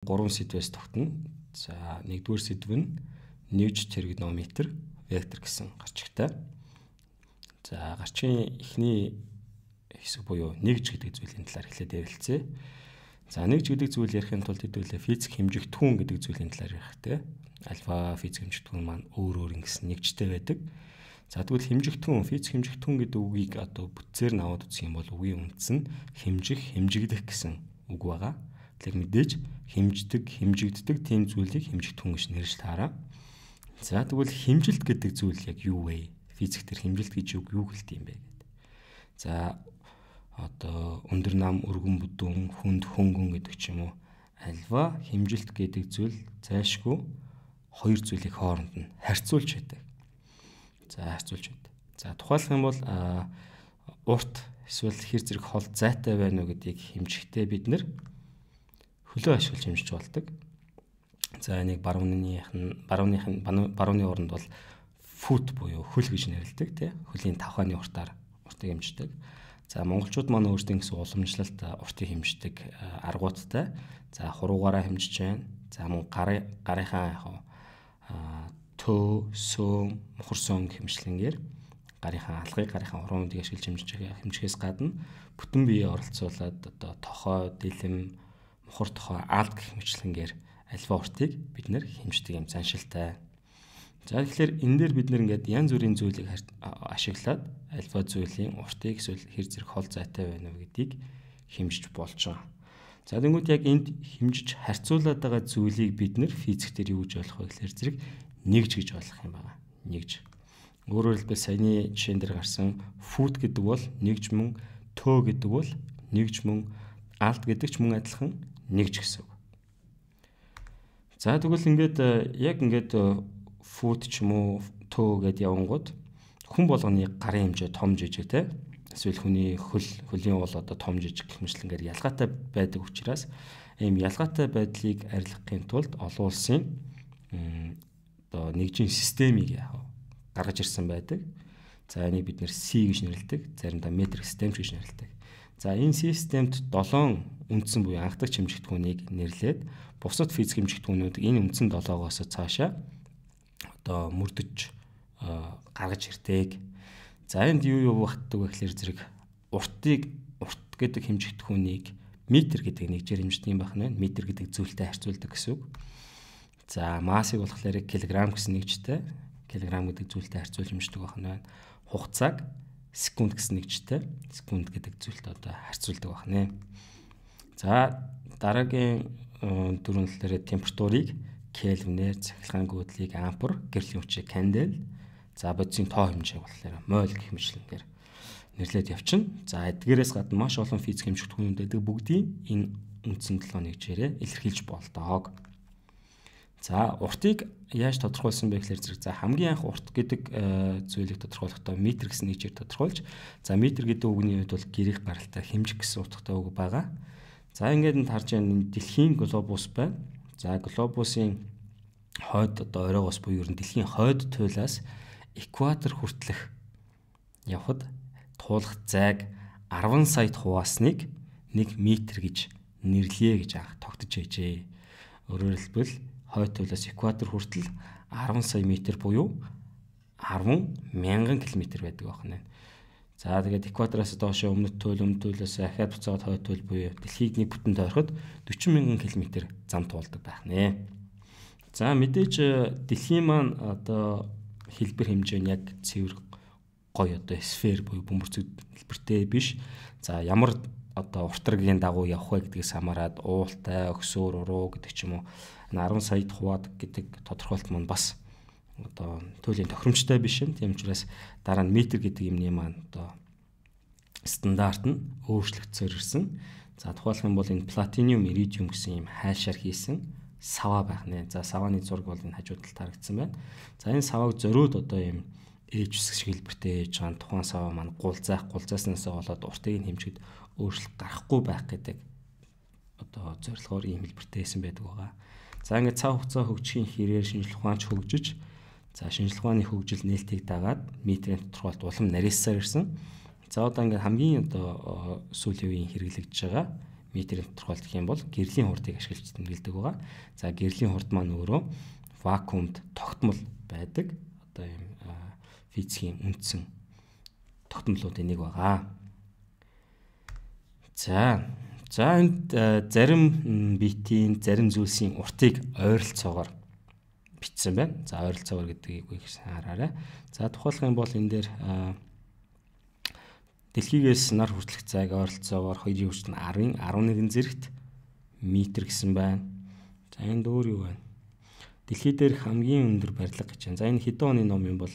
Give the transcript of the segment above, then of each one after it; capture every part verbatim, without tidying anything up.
гурван сэдвээс тогтно. За нэгдүгээр сэдв нь нewj тригонометр вектор гэсэн гарчигтай. За гарчгийн эхний хэсэг буюу нэгж гэдэг зүйлийн талаар эхлээд ярилцъя. За нэгж гэдэг зүйл ярихын тулд хэдүүлээ физик хэмжигдэхүүн гэдэг зүйлийн талаар ярих те. Альфа физик хэмжигдэхүүн маань өөр өөр ингэсэн нэгжтэй байдаг. За тэгвэл хэмжигдэхүүн, физик хэмжигдэхүүн гэдэг үгийг одоо бүтцээр нь аваад үзэх юм бол үгийн үндэс нь хэмжих, хэмжигдэх гэсэн үг байгаа. Тэгэхээр мэдээж хэмждэг, хэмжигддэг тийм зүйлийг хэмжигдэхүүн гэж нэрлэж таараа. За тэгвэл хэмжилт гэдэг зүйл яг юу вэ? Физик төр хэмжилт гэж юу гэлт юм бэ гэдэг. За одоо өндөр нам, өргөн бүдүүн, хүнд, хөнгөн гэдэг ч юм уу альва хэмжилт гэдэг зүйл зайлшгүй хоёр зүйлийг хооронд нь харьцуулж байдаг. За харьцуулж байдаг. За тухайлах юм бол урт эсвэл хэр зэрэг хол зайтай байна уу гэдгийг хэмжихдээ бид нэр хөлөө ашиглаж хэмжиж болдог. За энийг барууных нь барууных нь барууны оронд бол фут буюу хөл гэж нэрлэдэг тий. Хөлийн тавхааны уртаар уртыг хэмждэг. За монголчууд маань өөрсдийн гэсэн уламжлалт уртыг хэмждэг аргуудтай. За хуруугаараа хэмжиж байна. За мөн гарын гарынхаа яг төө, сөөм, мухар сон хэмжлэнгээр гарынхаа алгыг гарынхаа уруунуудыг ашиглаж хэмжиж хэмжихээс гадна бүтэн биеэ оролцуулаад одоо тохой, дэлэм, мухар тохой, алд гэх мэтлэнгээр альва уртыг бид нэр хэмждэг юм заншилтай. За тэгэхээр энэ дээр бид нэр ингээд янз бүрийн зүйлийг ашиглаад альва зүйлийн уртыг эсвэл хэр зэрэг хол зайтай байна уу гэдгийг хэмжиж болж байгаа. За тэгвэл яг энд хэмжиж харьцуулаад байгаа зүйлийг бид нэр физик дээр юу гэж ойлгох вэ гэхээр зэрэг нэгж гэж ойлгох юм байна. Нэгж. Өөрөөр хэлбэл саяны жишээн дээр гарсан фут гэдэг бол нэгж мөн, төө гэдэг бол нэгж мөн, алд гэдэг ч мөн адилхан нэгж гэсэн үг. За тэгвэл ингээд яг ингээд фут ч юм уу төө гэдээ явангууд хүн болгоны гарын хэмжээ том жижиг те эсвэл хүний хөл хөлийн бол одоо том жижиг гэх мэтлэнгээр ялгаатай байдаг учраас ийм ялгаатай байдлыг арилгахын тулд олон улсын одоо нэгжийн системийг гаргаж ирсэн байдаг. За энийг бид нэр C гэж нэрлэдэг. Заримдаа метрик систем гэж нэрлэдэг. За энэ системд долоон үндсэн буюу анхдагч хэмжигдэхүүнийг нэрлээд бусад физик хэмжигдэхүүнүүд энэ үндсэн долоогоос цаашаа одоо мөрдөж гаргаж ирдэг. За энд юу юу багтдаг вэ гэхээр зэрэг уртыг урт гэдэг хэмжигдэхүүнийг метр гэдэг нэгжээр хэмждэг юм байна. Метр гэдэг зүйлтэй харьцуулдаг гэсэн үг. За массыг болохоор килограмм гэсэн нэгжтэй, килограмм гэдэг зүйлтэй харьцуулж хэмждэг байна. Хугацааг секунд гэсэн нэгжтэй, секунд гэдэг зүйлтэй одоо харьцуулдаг байна. За дараагийн дөрвөн талаар температурыг кельвинээр, цахилгаан гүйдлийг ампер, гэрлийн хүчийг кандел, за бодисын тоо хэмжээг болохоор моль гэх мэтлэнгээр нэрлээд явчихна. За эдгээрээс гадна маш олон физик хэмжигдэхүүнүүд байдаг бүгдийг энэ үндсэн долоо нэгжээрээ илэрхийлж болдог. За уртыг яаж тодорхойлсон бэ гэхээр зэрэг за хамгийн анх урт гэдэг зүйлийг тодорхойлохдоо метр гэсэн нэгжээр тодорхойлж, за метр гэдэг үгний хувьд бол гэрих гаралтай хэмжих гэсэн утгатай үг байгаа. За ингээд энд харж байгаа дэлхийн глобус байна. За глобусын хойд одоо оройгоос буюу ер нь дэлхийн хойд туйлаас экватор хүртэлх явхад туулах зайг арван сая хуваасныг нэг метр гэж нэрлэе гэж анх тогтож байжээ. Өөрөөр хэлбэл хойд туйлаас экватор хүртэл арван сая метр буюу арван мянган километр байдаг байна. За тэгээд экватороос доошоо өмнөд туйл, өмнөд туйлаас ахаад буцаад хойд туйл буюу дэлхийг нэг бүтэн тойроход дөрвөн мянган километр зам туулдаг байна. За мэдээж дэлхийн маань одоо хэлбэр хэмжээ нь яг цэвэр гоё одоо сфер буюу бөмбөрцөг хэлбэртэй биш. За ямар одоо уртрагийн дагуу явах вэ гэдгээс хамаарат уултай, өксөр, уруу гэдэг ч юм уу арван саяд хуваадаг гэдэг тодорхойлт маань бас одоо туйлын тохиромжтой биш юм. Тийм учраас дараа нь метр гэдэг юмны маань одоо стандарт нь өөрчлөгдсөөр ирсэн. За тухайлх юм бол энэ платиниум, иридиум гэсэн юм хайшаар хийсэн сава байна. За саваны зураг бол энэ хажууд талд харагдсан байна. За энэ саваг зориуд одоо юм ээж үсэг шиг хэлбэртэй ээж байгаа тухайн сава маань гулзаах, гулзааснаас болоод уртыг нь хэмжихэд өөрчлөлт гарахгүй байх гэдэг одоо зорилгоор ийм хэлбэртэй байсан байдаг байгаа. За ингээд цав хугацаа хөгжихийн хэрээр шинжлэх ухаанч хөгжиж, за шинжлэх ухааны хөгжил нээлтийг дагаад метрийн тодорхойлт улам нарийсаар ирсэн. За одоо ингээд хамгийн одоо сүүлийн үеийн хэрэглэгдэж байгаа метрийн тодорхойлт гэх юм бол гэрлийн хурдыг ашиглаж тэмдэглэдэг байгаа. За гэрлийн хурд маань өөрөө вакуумд тогтмол байдаг. Одоо ийм физикийн үндсэн тогтмолуудын нэг байгаа. За за энд зарим битийн зарим зүйлсийн уртыг ойролцоогоор бичсэн байна. За ойролцоогоор гэдгийг хараарай. За тухайлх юм бол энэ дээр дэлхийгээс нар хүртэлх зайг ойролцоогоор хоёрын хүртэл арын арван нэгэн зэрэгт метр гэсэн байна. За энд өөр юу байна? Дэлхий дээр хамгийн өндөр барилга гэж байна. За энэ хэдэн оны ном юм бол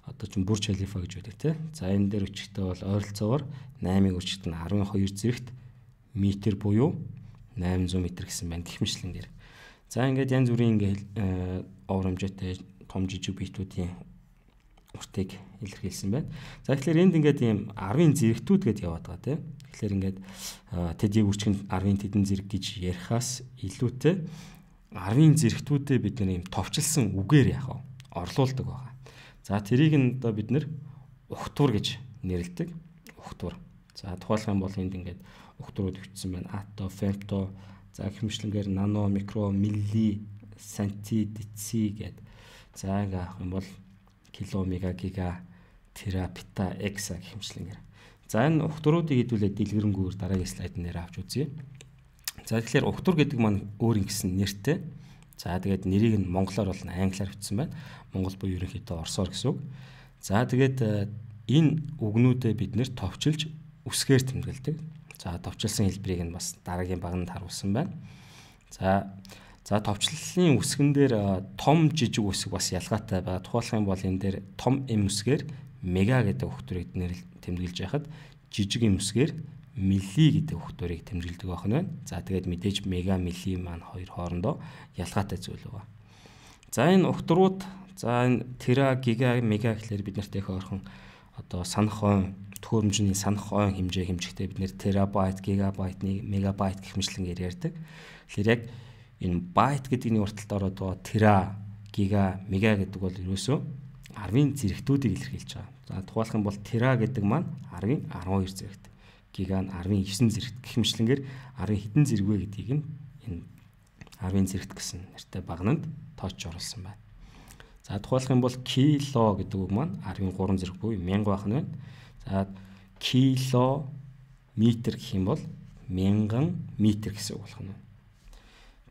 одоо ч Бурж Халифа гэж байдаг тийм. За энэ дээр өчигтэй бол ойролцоогоор наймын өчигт нь арван хоёр зэрэгт метр буюу найман зуун метр гэсэн байна гэх мэтлэн дээр. За ингээд янз бүрийн ингээд овор хэмжээтэй том жижиг биетүүдийн уртыг илэрхийлсэн байна. За тэгэхээр энд ингээд ийм арвын зэрэгтүүд гэдээ яваад байгаа тийм. Тэгэхээр ингээд тэдний үрчгэн арвын тэдэн зэрэг гэж ярихаас илүүтэй арвын зэрэгтүүдэд бид нэр ийм товчлсон үгээр яах вэ? Орлуулдаг байгаа. За тэрийг нь одоо бид нэр ухтуур гэж нэрлэдэг. Ухтуур. За тухайлх юм бол энд ингээд ухтуурууд бичсэн байна. Ато, фемто, за хэмжлэнгээр нано, микро, милли, санти, деци гэд. За ингээ авах юм бол кило, мега, гига, тера, пета, экса гэх хэмжлэнгээр. За энэ ухтууруудыг хэдүүлээд дэлгэрэнгээр дараагийн слайд нэр авч үзье. За тэгэхээр ухтуур гэдэг маань өөр ингэсэн нэртэй. За тэгээд нэрийг нь монголоор бол англиар бичсэн байна. Монгол буюу ерөнхийдөө орсоор гэсэн үг. За тэгээд энэ үгнүүдээ бид нэр товчилж үсгээр тэмдэглэдэг. За товчилсан хэлбэрийг нь бас дараагийн багнад харуулсан байна. За за товчлолын үсгэн дээр том жижиг үсэг бас ялгаатай байгаа. Тухайлх юм бол энэ дээр том эм үсгээр мега гэдэг ухтуурыг тэмдэглэж байхад жижиг эм үсгээр милли гэдэг ухтуурыг тэмдэглэдэг байх нь байна. За тэгээд мэдээж мега, милли маань хоёр хоорондоо ялгаатай зүйл байгаа. За энэ ухтурууд за энэ тера, гига, мега гэхлээр бид нарт их ойрхон одоо санах ойн төхөөрөмжний санах ойн хэмжээ хэмжихтэй бид нэр терабайт, гигабайт, мегабайт гэх мэтлэнгээр ярьдаг. Тэгэхээр яг энэ байт гэдэгний урталд ороод байгаа тера, гига, мега гэдэг бол ерөөсөө арвын зэрэгтүүдийг илэрхийлж байгаа. За тухайлх юм бол тера гэдэг маань арвын арван хоёр зэрэгт, гига нь арвын девять зэрэгт гэх мэтлэнгээр арвын хэдэн зэрэг вэ гэдгийг нь энэ арвын зэрэгт гэсэн нэртэй багнанд тооцож оруулсан байна. За тухайлх юм бол кило гэдэг үг маань арвын гурван зэрэг буюу мянга байх нь байна. За кило метр гэх юм бол мянган метр гэсэн үг болох нь.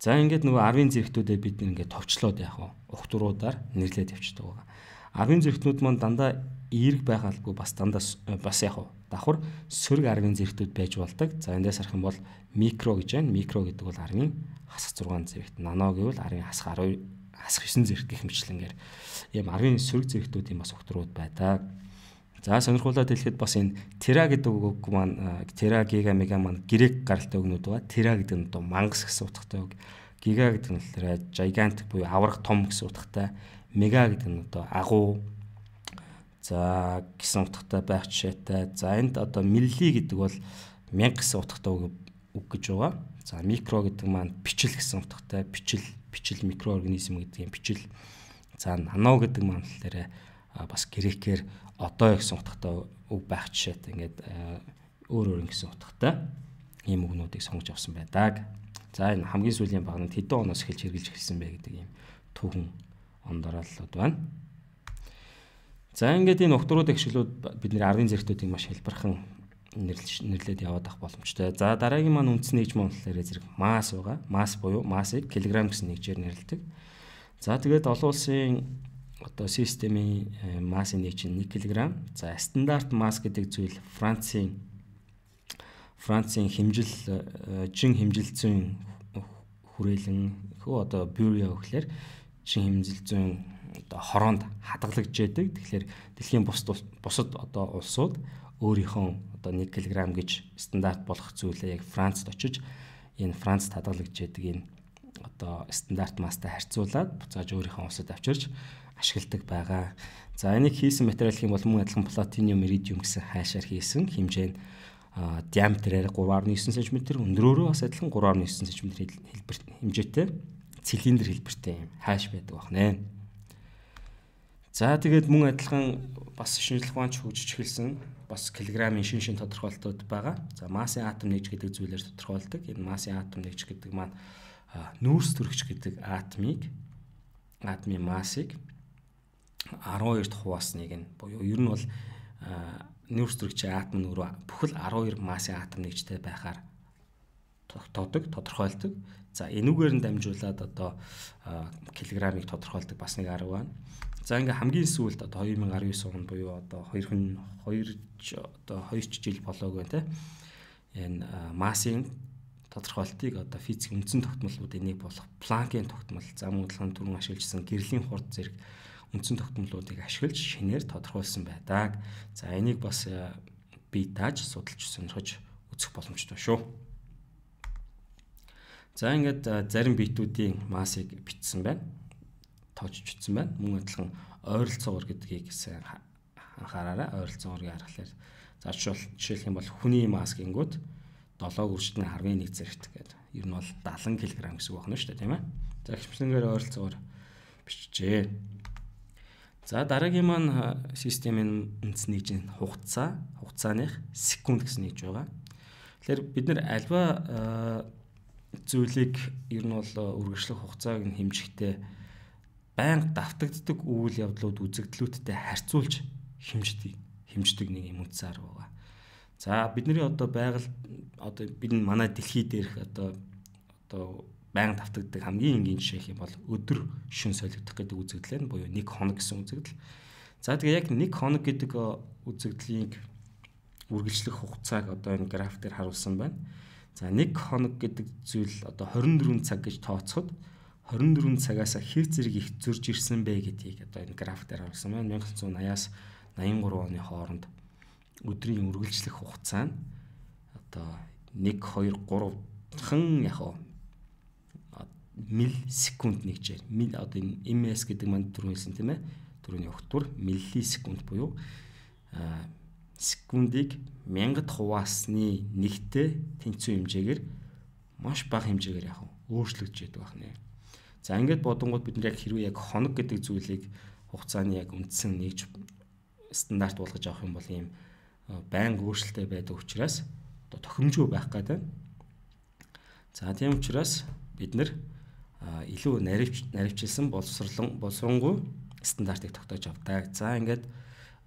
За ингээд нөгөө арвын зэрэгтүүдэд бид ингээд товчлоод яах вэ? Ухтуруудаар нэрлээд явчихдаг байгаа. Арвын зэрэгтнүүд маань дандаа эерэг байгаалгүй бас дандаа бас яах вэ? Давхар сөрөг арвын зэрэгтүүд байж болдог. За эндээс харах юм бол микро гэж байна. Микро гэдэг бол арвын хасах зургаан зэрэгт. Нано гэвэл арвын хасах арвын хасах девять зэрэгт гэх мэтлэнгээр ийм арвын сөрөг зэрэгтүүдийн бас ухтурууд байдаг. За сонирхолтой хэлэхэд бас энэ тера гэдэг үг маань тера, гига, мега маань грек гаралтай үгнүүд байгаа. Тера гэдэг нь одоо мангас гэсэн утгатай үг. Гига гэдэг нь болохоор gigantic буюу аврах том гэсэн утгатай. Мега гэдэг нь одоо агуу за гэсэн утгатай байх жишээтэй. За энд одоо милли гэдэг бол мянга гэсэн утгатай үг гэж байгаа. За микро гэдэг маань бичил гэсэн утгатай. Бичил, бичил микроорганизм гэдэг юм бичил. За нано гэдэг маань болохоор бас грекээр одоо гэсэн утгатай үг байх жишээтэй. Ингээд өөр өөр гэсэн утгатай ийм үгнүүдийг сонгож авсан байдаг. За энэ хамгийн сүүлийн багнад хэдэн оноос эхэлж хэрэгжилж эхэлсэн бэ гэдэг ийм түүхэн ондорлолууд байна. За ингээд энэ ухтуруудын гişлүүд бидний арвын зэрэгтүүдийг маш хэлбэрхэн нэрлээд яваад авах боломжтой. За дараагийн маань үндсэн нэгж монголоор зэрэг масс байгаа. Масс буюу массыг килограмм гэсэн нэгжээр нэрлэдэг. За тэгээд олон улсын одоо системийн массын нэг чинь нэг килограмм. За стандарт масс гэдэг зүйл Францын Францын хэмжил жин хэмжил зүйн хүрээлэн хөө одоо бюро гэхлээр жин хэмжил зүйн одоо хороонд хадгалагдж яадаг. Тэгэхээр дэлхийн бусад бусад одоо улсууд өөрийнхөө одоо нэг килограмм гэж стандарт болох зүйлээ яг Францд очиж энэ Францд хадгалагдж яадаг энэ одоо стандарт масстай харьцуулаад буцааж өөрийнхөө улсад авчирч ашигладаг байгаа. За энийг хийсэн материал хэм бол мөн адилхан платиниум, иридиум гэсэн хайшаар хийсэн хэмжээ нь диаметрээр три дасам нine сантиметр, өндрөөрөө бас адилхан три дасам нine сантиметр хэлбэр хэмжээтэй цилиндр хэлбэртэй юм хайш байдаг байна. За тэгээд мөн адилхан бас шинжлэх ухаанч хөгжиж эхэлсэн бас килограммын шин шин тодорхойлолтууд байгаа. За массын атом нэгж гэдэг зүйлээр тодорхойлдог. Энэ массын атом нэгж гэдэг маань нүүрс төрөгч гэдэг атомыг атомын массыг арван хоёрт хувасныг нь буюу ер нь бол нүүрс төрөгчийн атом нь өөрөө бүхэл арван хоёр массын атом нэгжтэй байхаар тогтоодог, тодорхойлдог. За энүүгээр нь дамжуулаад одоо килограммыг тодорхойлдог бас нэг арга байна. За ингээ хамгийн сүүлд одоо two thousand nineteen онд буюу одоо хоёр одоо хоёр жил болоог байна те. Энэ массын тодорхойлтыг одоо физикийн үндсэн тогтмолуудын нэг болох Планкийн тогтмол, зам удлын түрүүн ашигласан гэрлийн хурд зэрэг үндсэн тогтмолуудыг ашиглаж шинээр тодорхойлсон байдаг. За энийг бас бие дааж судалж сонирхож үзэх боломжтой шүү. За ингээд зарим биетүүдийн массыг бичсэн байна. Тоочж бичсэн байна. Мөн адилхан ойролцоогоор гэдгийг анхаараарай. Ойролцоогоорыг харахаар за жишээлх юм бол хүний масс гингүүд долоо үржтэн ten one зэрэгт гэдэг. Ер нь бол seventy кг гэсэн үг байна шүү дээ, тийм ээ. За хэмжлэнгээр ойролцоогоор биччихээ. За дараагийн маань системийн үндэс нэгжийн хугацаа, хугацааных секунд гэсэн нэгж байгаа. Тэгэхээр бид нар альва зүйлийг ер нь бол үргэлжлэх хугацааг нь хэмжихдээ байнга давтагддаг үйл явдлууд үзэгдлүүдтэй харьцуулж хэмждэг хэмждэг нэг юм үндэс арга байгаа. За бидний одоо байгаль одоо бид манай дэлхий дээрх одоо одоо байнга давтагддаг хамгийн энгийн жишээ юм бол өдөр шөнө солигдох гэдэг үзэгдэл нь буюу нэг хоног гэсэн үзэгдэл. За тэгээ яг нэг хоног гэдэг үзэгдлийг үргэлжлэх хугацааг одоо энэ граф дээр харуулсан байна. За нэг хоног гэдэг зүйл одоо twenty-four цаг гэж тооцоход twenty-four цагаас хэр зэрэг их зөрж ирсэн бэ гэдгийг одоо энэ граф дээр харуулсан байна. nineteen eighty-аас ninety-three оны хооронд өдрийн үргэлжлэх хугацаа нь одоо one two three хан яг миллисекунд нэгжээр мил одоо энэ ms гэдэг маань түрүү хэлсэн тийм ээ. Түрүүний огтур миллисекунд буюу секундыг мянгад хуваасны нэгтэй тэнцүү хэмжээгээр маш бага хэмжээгээр яг өөрчлөгдөж яддаг байна. За ингээд бодонгууд бид нар яг хэрвээ яг хоног гэдэг зүйлийг хугацааны яг үндсэн нэгж стандарт болгож авах юм бол ийм байнга өөрчлөлттэй байдаг учраас одоо тохиромжгүй байх гэдэг. За тийм учраас бид нар илүү наривч наривчилсан боловсролон боловсронгуй стандартыг тогтоож авдаг. За ингээд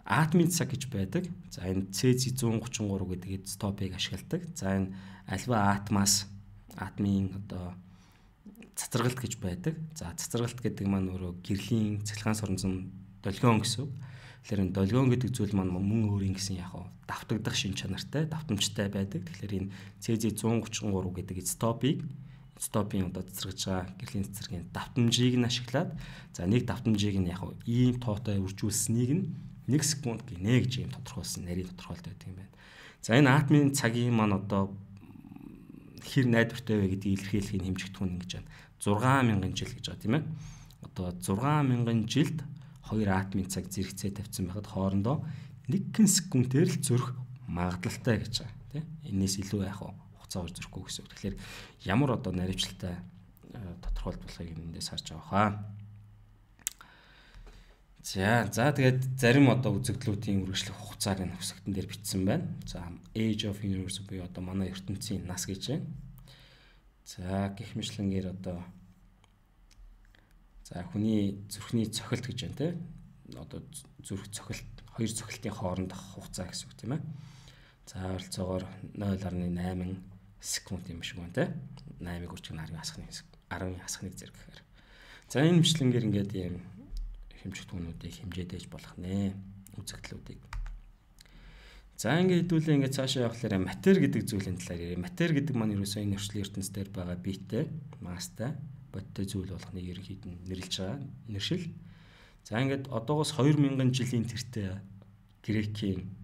атомын цаг гэж байдаг. За энэ цезий one thirty-three гэдэг изотопыг ашигладаг. За энэ альва атомаас атомын одоо цацрагалт гэж байдаг. За цацрагалт гэдэг маань өөрөө гэрлийн цахилгаан соронзон долгион гэсэн үг. Тэгэхээр энэ долгион гэдэг зүйл маань мөн өөрийн гэсэн яг давтагдах шин чанартай, давтамжтай байдаг. Тэгэхээр энэ цезий one thirty-three гэдэг изотопыг изотопийн одоо цэцэргэж байгаа гэрлийн цэцэргийн давтамжийг нь ашиглаад за нэг давтамжийг нь яг ийм тоотой үржүүлсэнийг нь one секунд гинэ гэж юм тодорхойлсон нарийн тодорхойлт байдаг юм байна. За энэ атомын цагийн маань одоо хэр найдвартай вэ гэдгийг илэрхийлэхийг хэмжигдэх нь ингэж байна. six thousand жил гэж байгаа тийм ээ. Одоо six thousand жилд хоёр атомын цаг зэрэгцээ тавьсан байхад хоорондоо one секундээр л зөрөх магадлалтай гэж байгаа тийм. Энээс илүү яах вэ? Хугацаагаар зөрөхгүй гэсэн үг. Тэгэхээр ямар одоо наривчлалтай тодорхойлт болохыг эндээс харж байгаа хаа. За за тэгээд зарим одоо үзэгдлүүдийн үргэлжлэх хугацааг нь хэсэгтэн дээр бичсэн байна. За age of universe буюу одоо манай ертөнцийн нас гэж байна. За гэх мэтлэнгээр одоо за хүний зүрхний цохилт гэж байна те. Одоо зүрх цохилт хоёр цохилтын хоорондох хугацаа гэсэн үг тийм ээ. За ойролцоогоор zero point eight секунд юм шиг байна те. eight-ыг үржих нь ten хасахны ten хасахны зэрэг гэхээр. За энэ мэтлэнгээр ингээд ийм хэмжих түүнүүдийг хэмжээдэж болох нэ үзэгдлүүдийг. За ингээд хэдүүлээ ингээд цаашаа явахлаараа матер гэдэг зүйлийн талаар ярив. Матер гэдэг маань ерөөсөө энэ орчлын ертөнцийн дээр байгаа биетэй, масстай, бодтой зүйл болгоныг ерөнхийд нь нэрлэж байгаа нэршил. За ингээд одоогоос two thousand жилийн тэртээ грекийн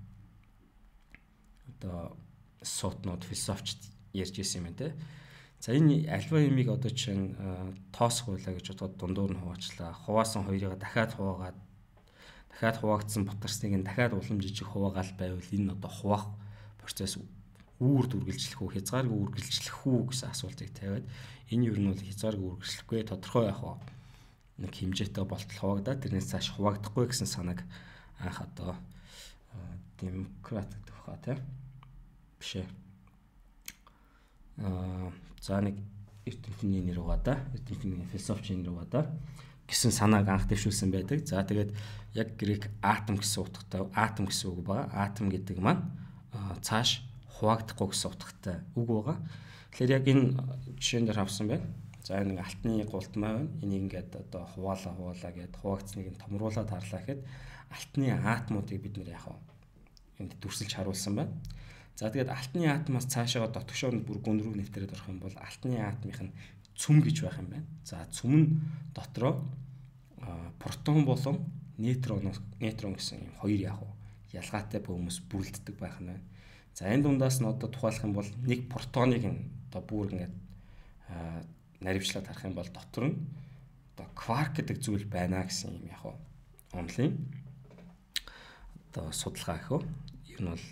одоо сотнууд философч ярьж ирсэн юм байна те. За энэ альва юмыг одоо чинь тоосох байлаа гэж бодоод дундуур нь хуваачлаа. Хуваасан хоёрыг дахиад хуваагаад дахиад хуваагдсан бутарсныг нь дахиад улам жижиг хуваагаал байвал энэ одоо хуваах процесс үүрд үргэлжлэх үү, хязгааргүй үргэлжлэх үү гэсэн асуултыг тавиад энэ юу нь бол хязгааргүй үргэлжлэхгүй тодорхой яах вэ? нэг хэмжээтэй болтол хуваагдаад тэрнээс цааш хуваагдахгүй гэсэн санааг анх одоо демократ гэдэг баха тийм биш ээ. Аа за нэг эрдэмтний нэр угаа да, эрдэмтний философчийн нэр угаа да гэсэн санааг анх дэвшүүлсэн байдаг. За тэгээд яг грек атом гэсэн утгатай атом гэсэн үг байгаа. Атом гэдэг маань цааш хуваагдахгүй гэсэн утгатай үг байгаа. Тэгэхээр яг энэ жишээн дээр авсан байна. За нэг алтны гултмаа байна. Энийг ингээд одоо хуваалаа хуваалаа гэд хуваагдсныг нь томруулаад харлаа гэхэд алтны атомуудыг бид нэр яах вэ? Энд дүрсэлж харуулсан байна. За тэгээд алтны атомоос цаашаа дотгошоор нь бүр гүн рүү нэвтрээд орох юм бол алтны атомын нь цөм гэж байх юм байна. За цөм нь дотроо протон болон нейтрон нейтрон гэсэн юм хоёр яах вэ? Ялгаатай бөмбөс бүрэлддэг байх нь байна. За энэ дундаас нь одоо тухайлах юм бол нэг протоныг одоо бүр ингээд наривчлаад харах юм бол дотор нь одоо кварк гэдэг зүйл байна гэсэн юм яах вэ? Онлын одоо судалгаа гэх үү? Ер нь бол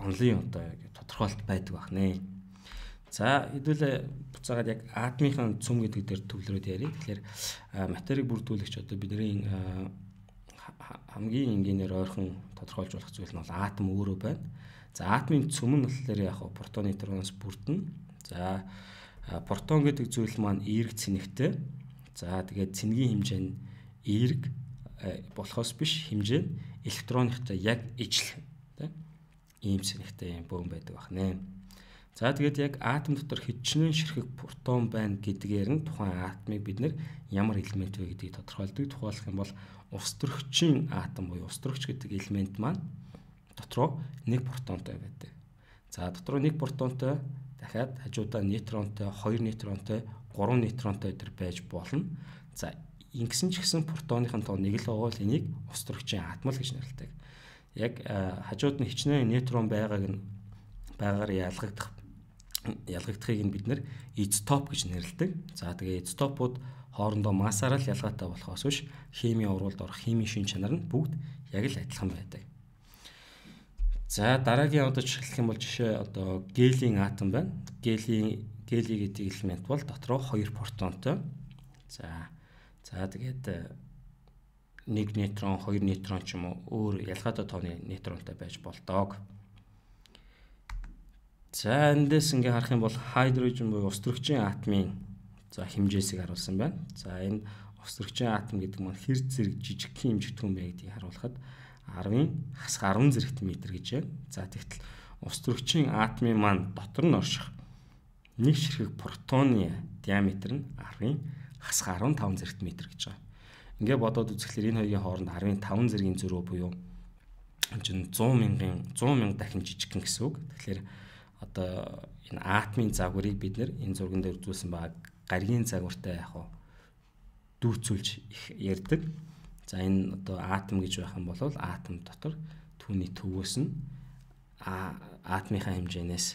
онлын одоо тодорхойлт байдаг байх нэ. За хэдүүлээ буцаагаад яг атомын цөм гэдэг дээр төвлөрөөд ярив. Тэгэхээр материйг бүрдүүлэгч одоо бидний хамгийн энгийнээр ойрхон тодорхойлж болох зүйл нь бол атом өөрөө байна. За атомын цөм нь болохоор яг протон нейтроноос бүрдэнэ. За протон гэдэг зүйл маань эерэг цэнэгтэй. За тэгээд цэнгийн хэмжээ нь эерэг болохоос биш хэмжээ нь электроныхтай яг ижил тийм ийм цэнэгтэй юм бөөн байдаг байх нэ. За тэгээд яг атом дотор хичнээн ширхэг протон байна гэдгээр нь тухайн атомыг бид нэр ямар элемент вэ гэдгийг тодорхойлдог. Тухайлах юм бол ус төрөгчийн атом буюу ус төрөгч гэдэг элемент маань дотроо нэг протонтой байдаг. За дотроо нэг протонтой дахиад хажуудаа нейтронтой, хоёр нейтронтой, гурван нейтронтой төр байж болно. За ингэсэн ч гэсэн протоныхын тоо нэг л байгаа л энийг ус төрөгчийн атом л гэж нэрлэдэг. Яг хажууд нь хичнээн нейтрон байгааг нь байгаар ялгагдах ялгагдахыг нь бид нэр изотоп гэж нэрлэдэг. За тэгээ изотопууд хоорондоо массаараа л ялгаатай болохоос биш химийн урвалд орох химийн шин чанар нь бүгд яг л адилхан байдаг. За дараагийн одоо жишээлх юм бол жишээ одоо гелийн атом байна. Гелийн гели гэдэг элемент бол дотроо хоёр протонтой. За за тэгээд нэг нейтрон, хоёр нейтрон ч юм уу өөр ялгаатай тооны нейтронтой байж болдог. За эндээс ингээ харах юм бол хайдрожен буюу ус төрөгчийн атомын за хэмжээсийг харуулсан байна. За энэ ус төрөгчийн атом гэдэг маань хэр зэрэг жижигхэн хэмжигдэх юм бэ гэдгийг харуулхад арвын хасах арван зэрэгт метр гэж байна. За тэгтэл ус төрөгчийн атомын маань дотор нь орших нэг ширхэг протоны диаметр нь арвын хасах арван таван зэрэгт метр гэж байна. Ингээ бодоод үзэхлээр энэ хоёрын хооронд арвын таван зэргийн зөрүү буюу чинь зуун мянган зуун мянга дахин жижигхэн гэсэн үг. Тэгэхээр одоо энэ атомын загварыг бид нэр энэ зурган дээр үзүүлсэн байгаа гаригийн загвартай яг хаа дүүцүүлж их ярьдаг. За энэ одоо атом гэж байх юм бол атом дотор түүний төвөөс нь атомынхаа хэмжээнээс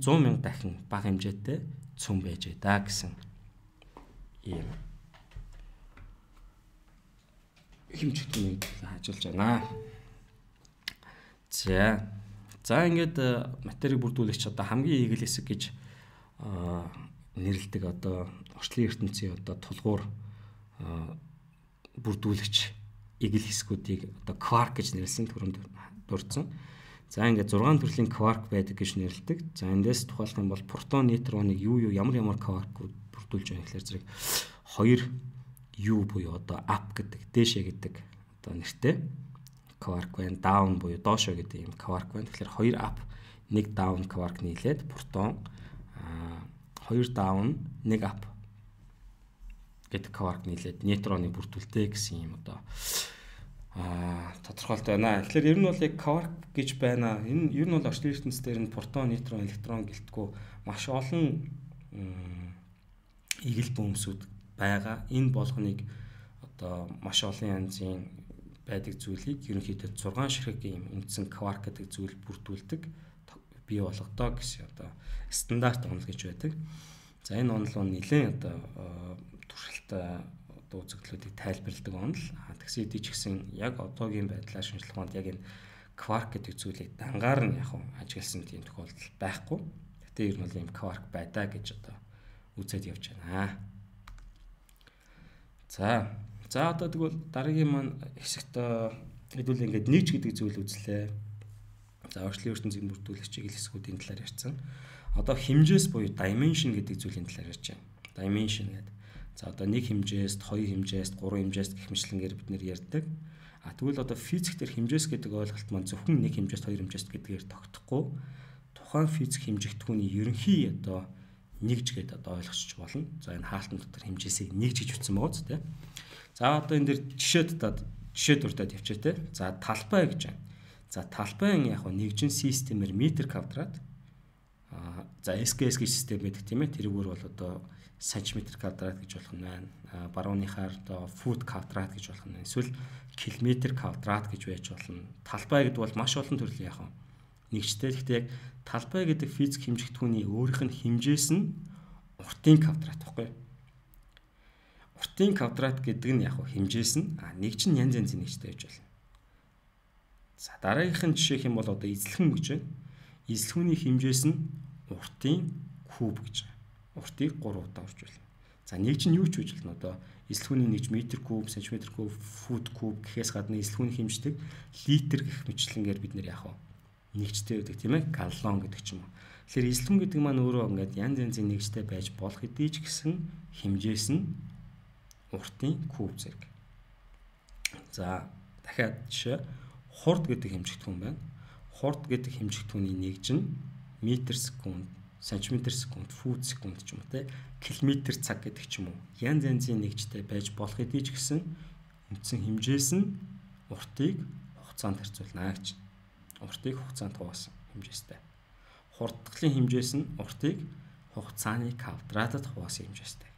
зуун мянга дахин бага хэмжээтэй цөм байж байгаа гэсэн ийм хэмжигтнийг хажуулж байна. За За ингээд материйг бүрдүүлэгч одоо хамгийн игэл хэсэг гэж нэрлэдэг одоо орчлын ертөнцийн одоо тулгуур бүрдүүлэгч игэл хэсгүүдийг одоо кварк гэж нэрлсэн түрүүнд дурдсан. За ингээд зургаан төрлийн кварк байдаг гэж нэрлэдэг. За эндээс тухайлах юм бол протон, нейтроныг юу юу ямар ямар кваркууд бүрдүүлж байгаа гэхээр зэрэг хоёр U буюу одоо up гэдэг дээшээ гэдэг одоо нэртэй кварк байна. Даун буюу доошо гэдэг юм кварк байна. Тэгэхээр хоёр up, нэг даун кварк нийлээд протон, хоёр даун, нэг up гэдэг кварк нийлээд нейтроны бүрдүүлэлтэй гэсэн юм одоо а тодорхойлт байна. Тэгэхээр ер нь бол яг кварк гэж байна. Энэ ер нь бол орчлон ертөнцийн дээр нь протон, нейтрон, электрон гэлтгүү маш олон игэл бөмбөсүүд байгаа. Энэ болгоныг одоо маш олон янзын байдаг зүйлийг ерөнхийдөө зургаан ширхэг юм үндсэн кварк гэдэг зүйл бүрдүүлдэг бий болгодог гэсэн одоо стандарт онол гэж байдаг. За энэ онол нь нэлээд одоо туршилттай одоо үзэгдлүүдийг тайлбарладаг онол. Тэгсэн хэдий ч гэсэн яг одоогийн байдлаар шинжлэх ухаанд яг энэ кварк гэдэг зүйлийг дангаар нь яг ажигласан тийм тохиолдол байхгүй. Гэтэ ер нь бол ийм кварк байдаа гэж одоо үзээд явж байна. За. За одоо тэгвэл дараагийн маань хэсэгт хэдүүл ингээд нэгж гэдэг зүйл үзлээ. За орчлын ертөнцийн бүрдүүлэгч чиглэл хэсгүүдийн талаар ярьсан. Одоо хэмжээс буюу dimension гэдэг зүйлийн талаар ярьж байна. Dimension гэдэг. За одоо нэг хэмжээст, хоёр хэмжээст, гурван хэмжээст гэх мэтлэнгээр бид нэр ярьдаг. А тэгвэл одоо физик дээр хэмжээс гэдэг ойлголт маань зөвхөн нэг хэмжээст, хоёр хэмжээст гэдгээр тогтохгүй. Тухайн физик хэмжигдэхүүний ерөнхий одоо нэгж гэдэг одоо ойлгочих болно. За энэ хаалтан дотор хэмжээсийг нэгж гэж утсан байгаа зү тэ. За одоо энэ дэр жишээд дад жишээ дуртад явчих тэ. За талбай гэж байна. За талбайн яг нь нэгжин системээр метр квадрат. А за эс гэ эс гэж систем байдаг тийм ээ. Тэрүүгээр бол одоо сантиметр квадрат гэж болох нь байна. Барууныхаар одоо фут квадрат гэж болох нь. Эсвэл километр квадрат гэж байж болно. Талбай гэдэг бол маш олон төрлийн яг нэгжтэй. Гэхдээ яг талбай гэдэг физик хэмжигдэхүүний өөрийнх нь хэмжээс нь уртын квадрат баггүй. Уртын квадрат гэдэг нь яг хэмжээс нь а нэгж нь янз янзын нэгжтэй байж болно. За дараагийнх нь жишээх юм бол одоо эзлэхэн гэж байна. Эзлэхүүний хэмжээс нь уртын куб гэж байна. Уртыг гурав удаа урж байна. За нэгж нь юу ч үж болно одоо эзлэхүүний нэгж метр куб, сантиметр куб, фут куб гэхээс гадна эзлэхүүний хэмждэг литр гэх мэтлэнгээр бид нэр яах вэ? Нэгжтэй байдаг тийм ээ. Галлон гэдэг ч юм уу. Тэгэхээр эзлэхэн гэдэг маань өөрөө ингээд янз янзын нэгжтэй байж болох хэдий ч гэсэн хэмжээс нь уртын куб зэрэг. За дахиад жишээ хурд гэдэг хэмжигдэхүүн байна. Хурд гэдэг хэмжигдэхүүний нэгж нь метр секунд, сантиметр секунд, фут секунд ч юм уу те, километр цаг гэдэг ч юм уу. Янз янзын нэгжтэй байж болох хэдий ч гэсэн үндсэн хэмжээс нь уртыг хугацаанд харьцуулна гэж. Уртыг хугацаанд хуваасан хэмжээстэй. Хурдгалын хэмжээс нь уртыг хугацааны квадратад хуваасан хэмжээстэй.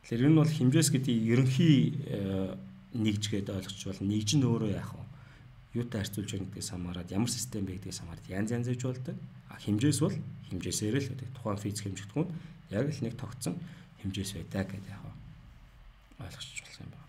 Тэгэхээр энэ бол хэмжээс гэдэг ерөнхий нэгж гэдэг ойлгож болно. Нэгж нь өөрөө яах вэ? Юутай харьцуулж байгаа гэдгээс хамаарат ямар систем бэ гэдгээс хамаарат янз янз хийж болдог. А хэмжээс бол хэмжээсээр л гэдэг. Тухайн физик хэмжигдэхүүн яг л нэг тогтсон хэмжээс байдаг гэдэг яг ойлгож болох юм байна.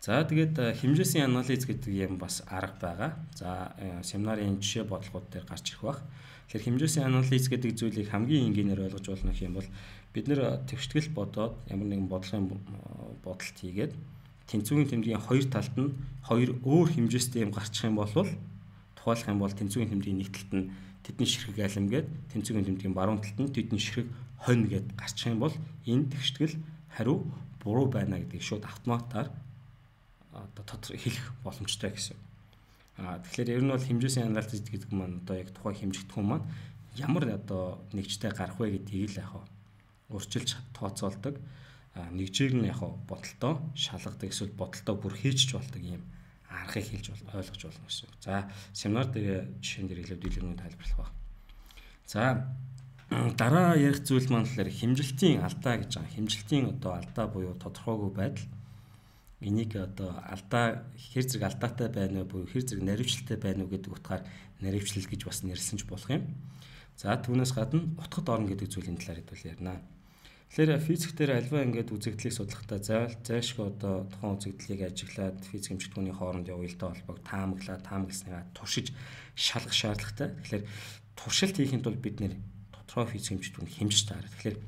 За тэгээд хэмжээсийн анализ гэдэг юм бас арга байгаа. За семинарын жишээ бодлогууд дээр гарч ирэх бах. Тэгэхээр хэмжээсийн анализ гэдэг зүйлийг хамгийн энгийнээр ойлгож болно гэх юм бол бид нэр төвшгөл бодоод ямар нэгэн бодлогын бодолт хийгээд тэнцвүүгийн тэмдгийн хоёр талд нь хоёр өөр хэмжээстэй юм гарчих юм бол тухайлах юм бол тэнцвүүгийн тэмдгийн нэг талд нь тэдний ширхэг алим гээд тэнцвүүгийн тэмдгийн баруун талд нь тэдний ширхэг хонь гээд гарчих юм бол энэ төвшгөл хариу буруу байна гэдгийг шууд автоматар одоо тодор хэлэх боломжтой гэсэн. Аа тэгэхээр ер нь бол хэмжээсийн анализ гэдэг маань одоо яг тухайн хэмжигдэхүүн маань ямар одоо нэгжтэй гарах вэ гэдгийг л яг урьдчилж тооцоолдог. Аа нэгжийг нь яг бодолтоо шалгадаг эсвэл бодолтоо бүр хийчих болдог юм аргыг хэлж ойлгож болно гэсэн. За семинар дээр жишээн дээр илүү дэлгэрэнгүй тайлбарлах баг. За дараа ярих зүйл маань болохоор хэмжилтийн алдаа гэж байгаа. Хэмжилтийн одоо алдаа буюу тодорхойгүй байдал. Энийг одоо алдаа хэр зэрэг алдаатай байна уу буюу хэр зэрэг наривчлалтай байна уу гэдэг утгаар наривчлал гэж бас нэрлсэн ч болох юм. За түүнээс гадна утгад орно гэдэг зүйлийн талаар хэдүүл ярина. Тэгэхээр физик дээр альва ингээд үзэгдлийг судлахдаа заавал зайлшгүй одоо тухайн үзэгдлийг ажиглаад физик хэмжигдэхүүний хооронд явуултаа холбоог таамаглаа, таамагласнаа туршиж шалгах шаардлагатай. Тэгэхээр туршилт хийхэд бол бид нэр тодорхой физик хэмжигдэхүүнийг хэмжиж таарна. Тэгэхээр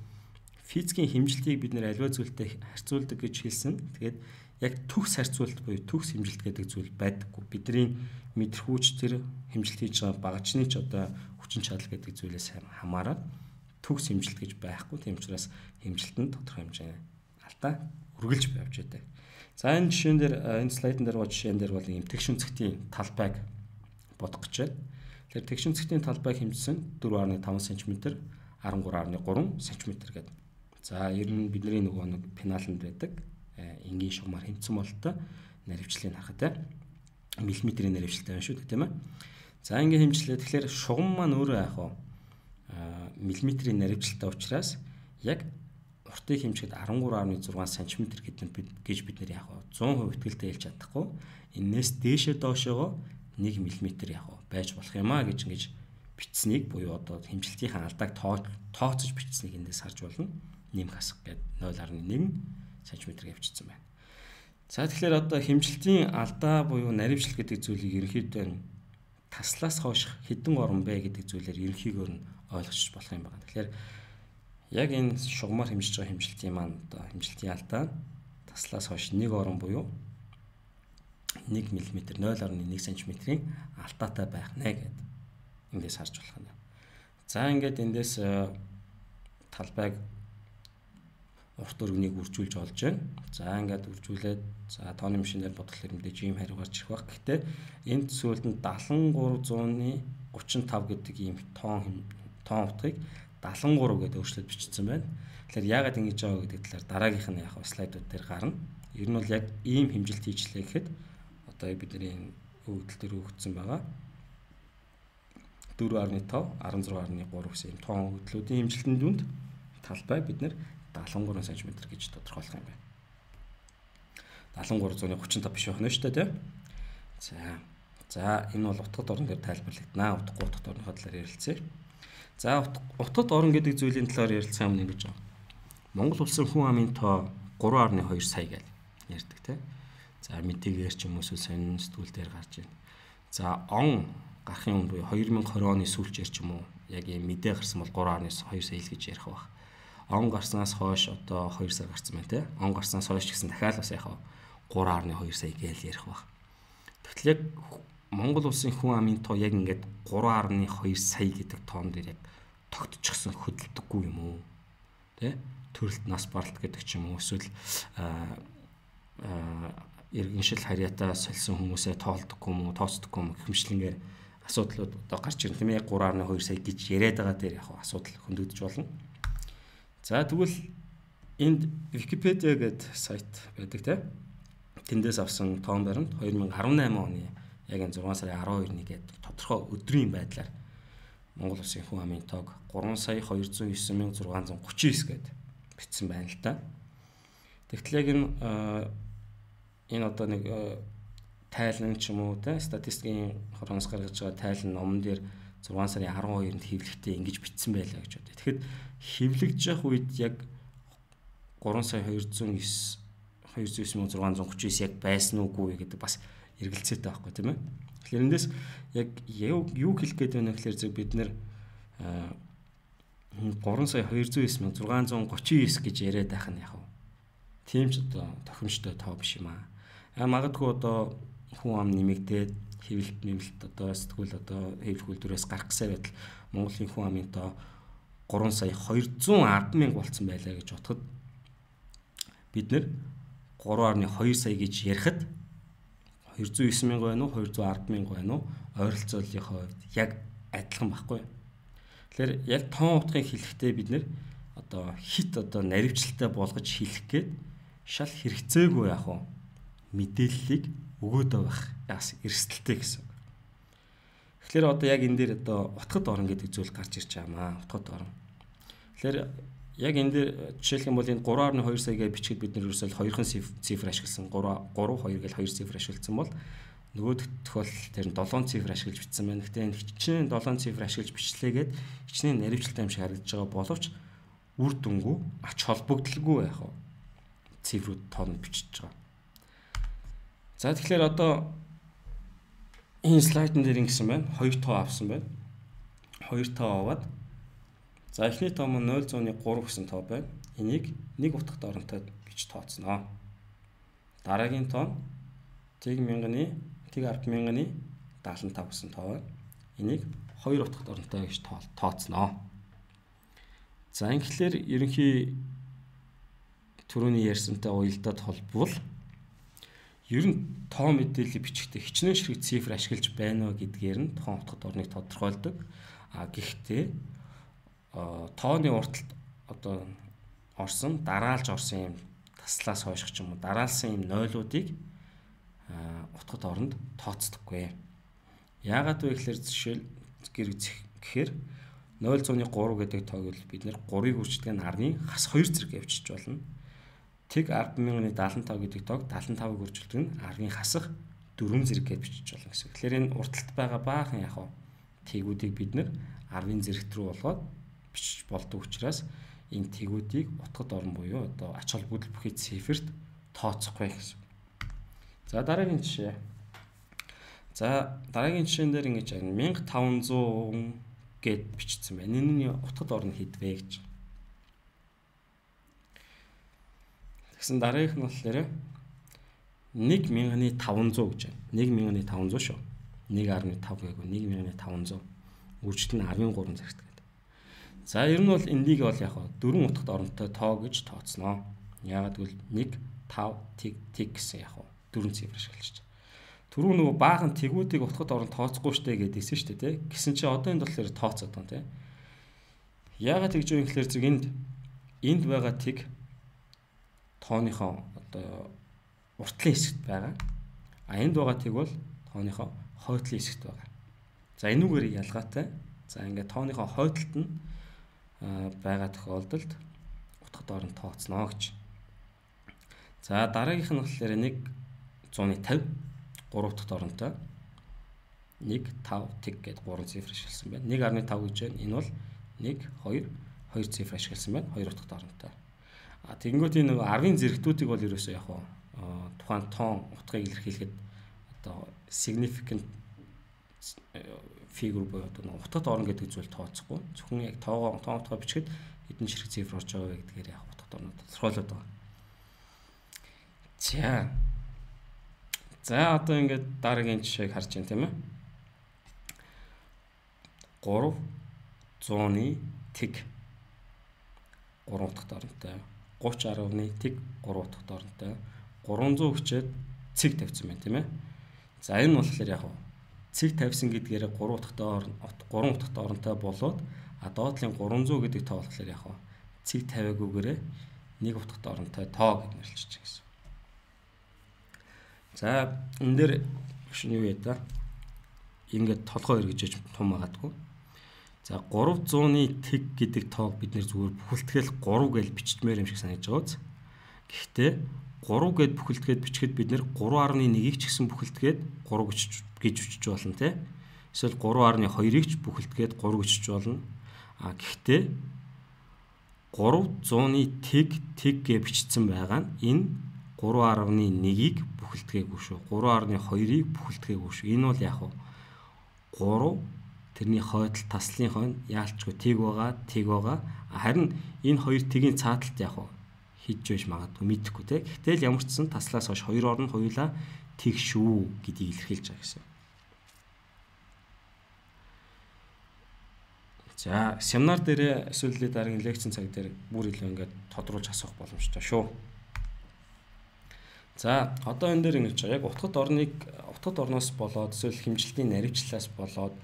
физикийн хэмжилтийг бид нэр альва зүйлтэй харьцуулдаг гэж хэлсэн. Тэгээд яг төгс харьцуулт буюу төгс хэмжилт гэдэг зүйл байдаггүй. Бидний мэдрэхүйч тэр хэмжилт хийж байгаа багажны ч одоо хүчин чадал гэдэг зүйлээс хамаарат төгс хэмжилт гэж байхгүй. Тийм учраас хэмжилтэнд тодорхой хэмжээний алдаа үргэлж явж байдаг. За энэ жишээн дээр энэ слайдн дээр гоо жишээн дээр бол юм тэгш үнцгтийн талбайг бодох гэж байна. Тэгэхээр тэгш үнцгтийн талбайг хэмжсэн дөрвөн дашик таван сантиметр, арван гурван дашик гурван сантиметр гэдэг. За ер нь бидний нөгөө нэг пеналанд байдаг энгийн шугамар хэмцсэн бололтой наривчлалыг харахад те миллиметрийн наривчлалтай байна шүү дээ тийм ээ. За ингээ хэмжлээ. Тэгэхээр шугам маань өөрөө яах вэ? Миллиметрийн наривчлалтай учраас яг уртыг хэмжихэд арван гурван дашик зургаан сантиметр гэдэг гэж бид нэр яах вэ? зуун хувь итгэлтэй хэлж чадахгүй. Энээс дээшээ доошоогоо нэг миллиметр яах вэ? Байж болох юм а гэж ингэж бичсэнийг буюу одоо хэмжилтийн алдааг тооцож бичсэнийг эндээс харж болно. Нэмэх хасах гэдэг нуль гаруй нэг сантиметр явчихсан байна. За тэгэхээр одоо хэмжилтийн алдаа буюу наривчлал гэдэг зүйлийг ерөнхийдөө таслаас хойш хэдэн орн бэ гэдэг зүйлээр ерөнхийгөөр нь ойлгож болох юм байна. Тэгэхээр яг энэ шугамар хэмжиж байгаа хэмжилтийн маань одоо хэмжилтийн алдаа таслаас хойш нэг орон буюу нэг миллиметр нуль орон нэг сантиметрийн алдаатай байх нэ гэд эндээс харж болох юм. За ингээд эндээс талбайг урт өргөнийг үржүүлж олж байна. За ингээд үржүүлээд за тооны машинаар бодглохоор мэдээж ийм хариу гарч ирэх баг. Гэхдээ энэ төсөөлд нь дагалан гурван гучин тав гэдэг ийм тоон тоон утгыг дагалан гурав гэдэг өөрчлөлт бичсэн байна. Тэгэхээр яагаад ингэж байгаа гэдэг талаар дараагийнх нь яг слайдууд дээр гарна. Ер нь бол яг ийм хэмжилт хийжлээ гэхэд одоо бидний өгөгдөл дээр өгөгдсөн байгаа. дөрвөн гаруй тавь, арван зураг гаруй гурав гэсэн ийм тоон өгөгдлүүдийн хэмжилтийн дүнд талбай бид нэр дагалан гурван сантиметр гэж тодорхойлох юм байна. дагалан гурван зуны гучин тав биш байх нь шүү дээ, тийм. За. За энэ бол утгад орон дээр тайлбарлагдана. Утгагүй утгад орныхоо талаар ярилцъя. За утгад орон гэдэг зүйлийн талаар ярилцсан юм ингэж байна. Монгол улсын хүн амын тоо гурван гаруй хоёр сая гэж ярьдаг, тийм. За мэдээгээр ч юм уу сонин сэтгүүл дээр гарч байна. За он гарахын өмнө хоёр мянга и двадцать оны сүүлчээр ч юм уу яг ийм мэдээ гарсан бол гурван гаруй хоёр сая л гэж ярих байх. Он гарснаас хойш одоо хоёр сар гарсан байна, тийм. Он гарснаас хойш гэсэн дахиад бас яхаа гурван гаруй хоёр сая гэж ярих байх. Тэгтэл яг Монгол улсын хүн амын тоо яг ингээд гурван гаруй хоёр сая гэдэг тоон дээр яг тогтчихсон хөдөлдөггүй юм уу? Тэ? Төрөлт нас баралт гэдэг ч юм уу эсвэл аа иргэншил харьяатаа сольсон хүмүүсээ тоолдоггүй юм уу, тооцдоггүй юм хэмжлэнгээр асуудлууд одоо гарч ирэн тийм ээ гурван гаруй хоёр сая гэж яриад байгаа дээр яг асуудал хөндөгдөж болно. За тэгвэл энд Википедиа гэдэг сайт байдаг тийм. Тэндээс авсан тоон баримт two thousand eighteen оны яг энэ зургаан сарын twelve гэдэг тодорхой өдрийн байдлаар Монгол улсын хүн амын тоог three сая two hundred nine thousand six hundred thirty-nine гэд бичсэн байна л да. Тэгтэл яг энэ энэ одоо нэг тайлан ч юм уу те статистикийн хороноос гаргаж байгаа тайлан номон дээр зургаан сарын twelve-нд хэвлэгтээ ингэж бичсэн байлаа гэж бодъё. Тэгэхэд хэвлэгдэж явах үед яг three сая two hundred nine two hundred nine thousand six hundred thirty-nine яг байсан уугүй гэдэг бас эргэлзээтэй байхгүй тийм ээ. Тэгэхээр эндээс яг юу хэлэх гээд байна гэхээр зөв бид нэр three сая two hundred nine thousand six hundred thirty-nine гэж яриад байх нь яг. Тийм ч одоо тохиромжтой тоо биш юм аа. А магадгүй одоо хүн ам нэмэгдээд хэвлэлт нэмэлт одоо сэтгүүл одоо хэвлэх үйлдвэрээс гарах гэсэн байтал Монголын хүн амын тоо three сая two hundred ten мянга болцсон байлаа гэж бодоход бид нэр three гаруй two сая гэж ярихад two hundred nine мянга байна уу two hundred ten мянга байна уу ойролцооллынхоо хувьд яг адилхан байхгүй. Тэгэхээр яг тоон утгыг хэлэхдээ бид нэр одоо хит одоо наривчлалтай болгож хэлэх гээд шал хэрэгцээгүй яах вэ? Мэдээллийг өгөөд байх яас эрсдэлтэй гэсэн. Тэгэхээр одоо яг энэ дээр одоо утгад орон гэдэг зүйл гарч ирж байгаа маа. Утгад орон. Тэгэхээр яг энэ дээр жишээлх юм бол энэ three гаруй two сая гэж бичгээд бид нэр ерөөсөө хоёрхан цифр ашигласан three two гэж хоёр цифр ашигласан бол нөгөө тохиолдол тэр нь seven цифр ашиглаж бичсэн байна. Гэхдээ энэ хичнээн seven цифр ашиглаж бичлээгээд хичнээн наривчлалтай юм шиг харагдаж байгаа боловч үр дүнгүй ач холбогдолгүй байх уу цифрүүд тоон бичиж байгаа. За тэгэхээр одоо энэ слайдн дээр ингэсэн байна. Хоёр тоо авсан байна. Хоёр тоо аваад за эхний тоо нь zero point three гэсэн тоо байна. Энийг нэг утгад оронтой бич тооцноо. Дараагийн тоо тэг мянганы тэг ард мянганы seventy-five гэсэн тоо байна. Энийг хоёр утгад оронтой гэж тооцноо. За ингэхлээр ерөнхий түрүүний ярьсантай уялдаад холбовол ер нь тоо мэдээлэл бичихтэй хичнээн ширхэг цифр ашиглаж байна уу гэдгээр нь тоон утгад орныг тодорхойлдог. А гэхдээ тооны урталт одоо орсон дараалж орсон юм таслаас хойших ч юм уу дараалсан юм нойлуудыг утгад оронд тооцдоггүй. Яагаад вэ гэхээр жишээл гэхээр zero point three гэдэг тоог л бид нэр three-ыг үрждэг нь арны хас two зэрэг явьчих болно. Тэг ten thousand seventy-five гэдэг тоог seventy-five-ыг үржүүлдэг нь арны хасах four зэрэг гэж бичиж болно гэсэн. Тэгэхээр энэ урталт байгаа баахан яг хаа тэгүүдийг бид нэр арны зэрэгт рүү болгоод бичиж болдог учраас энэ тэгүүдийг утгад орон буюу одоо ач холбогдол бүхий циферт тооцохгүй гэсэн. За дараагийн жишээ. За дараагийн жишээн дээр ингэж байна. fifteen hundred гэд бичсэн байна. Энэ нь утгад орон хэдвэ гэж. Тэгсэн дараагийнх нь болохоор нэг мянган таван зуун гэж байна. нэг мянган таван зуун шүү. нэг гаруй тав гээгүү нэг мянган таван зуун. Үржил нь арван гурван зэрэгт гэдэг. За ер нь бол эндийг бол яг дөрвөн утгад оронтой тоо гэж тооцноо. Яагаад гэвэл нэг тав тэг тэг гэсэн яг дөрвөн цифр ашиглаж байна. Түрүү нөгөө баахан тэгүүдийг утгад орон тооцохгүй штэ гэдээсэн штэ тий. Гэсэн чи одоо энд болохоор тооцоод байна тий. Яагаад тэгж юм гэхээр зүг энд энд байгаа тэг тооныхоо одоо уртлын хэсэгт байгаа. А энд байгаа тэг бол тооныхоо хойдлын хэсэгт байгаа. За энүүгээр ялгаатай. За ингээд тооныхоо хойдолд нь байгаа тохиолдолд утгад орон тооцноо гэж. За дараагийнх нь болохоор нэг зуун тавь гурав дахь оронтой нэг тав тэг гээд гурван цифр ашигласан байна. нэг гаруй тав гэж байна. Энэ бол нэг хоёр хоёр цифр ашигласан байна. хоёр дахь оронтой. А тэгэнгүүт энэ нөгөө арвын зэрэгтүүдийг бол ерөөсөө яг тухайн тоон утгыг илэрхийлэхэд одоо significant figure буюу одоо утгад орно гэдэг зүйл тооцохгүй. Зөвхөн яг тоогоо тоон утгаа бичихэд хэдэн ширхэг цифр орж байгаа вэ гэдгээр яг утгад орно тодорхойлоод байгаа. За. За одоо ингээд дараагийн жишээг харж байна тийм ээ. гурав зууны тэг гурав дахь оронтой. гуйч арваны тэг гурав дахь оронтой. гурван зуун хүчээд цэг тавьсан байна тийм ээ. За энэ нь болохоор яг цэг тавьсан гэдгээр гурав дахь орон гурван дахь оронтой болоод а доотлын гурван зуун гэдэг тоо болохоор яг цэг тавиагүйгээрээ нэг дахь оронтой тоо гэж нэрлэж байгаа гэсэн. За энэ дээр шинэ юу яа та ингээд толгой эргэж тум магадгүй. За гурав зууны тэг гэдэг тоог бид нэр зүгээр бүхэлдгээл гурав гэж бичмээр юм шиг санагдаж байгаа үз. Гэхдээ гурав гэд бүхэлдгээд бичихэд бид нэр гурав гаруй нэгийг ч гэсэн бүхэлдгээд гурав гэж гэж бичиж болно те. Эсвэл гурав гаруй хоёрыг ч бүхэлдгээд гурав гэж бичиж болно. А гэхдээ гурав зууны тэг тэг гэж бичсэн байгаа нь энэ гурав гаруй нэгийг бүхэлдгээгүй шүү. гурав гаруй хоёрыг бүхэлдгээгүй шүү. Энэ бол яг гурав тэрний хойдол таслын хойно яалчгүй тэг байгаа, тэг байгаа. Харин энэ хоёр тэгийн цааталт яг хийж байж магадгүй мэдэхгүй те. Гэтэл ямар ч сан таслаас хойш хоёр орн хоёулаа тэг шүү гэдгийг илэрхийлж байгаа гэсэн. За семинар дээр эсвэл дараагийн лекцийн цаг дээр бүр илүү ингээд тодруулж асуух боломжтой шүү. За одоо энэ дээр ингэж байгаа. Яг утгад орныг утгад орноос болоод эсвэл хэмжилтийн наривчлалаас болоод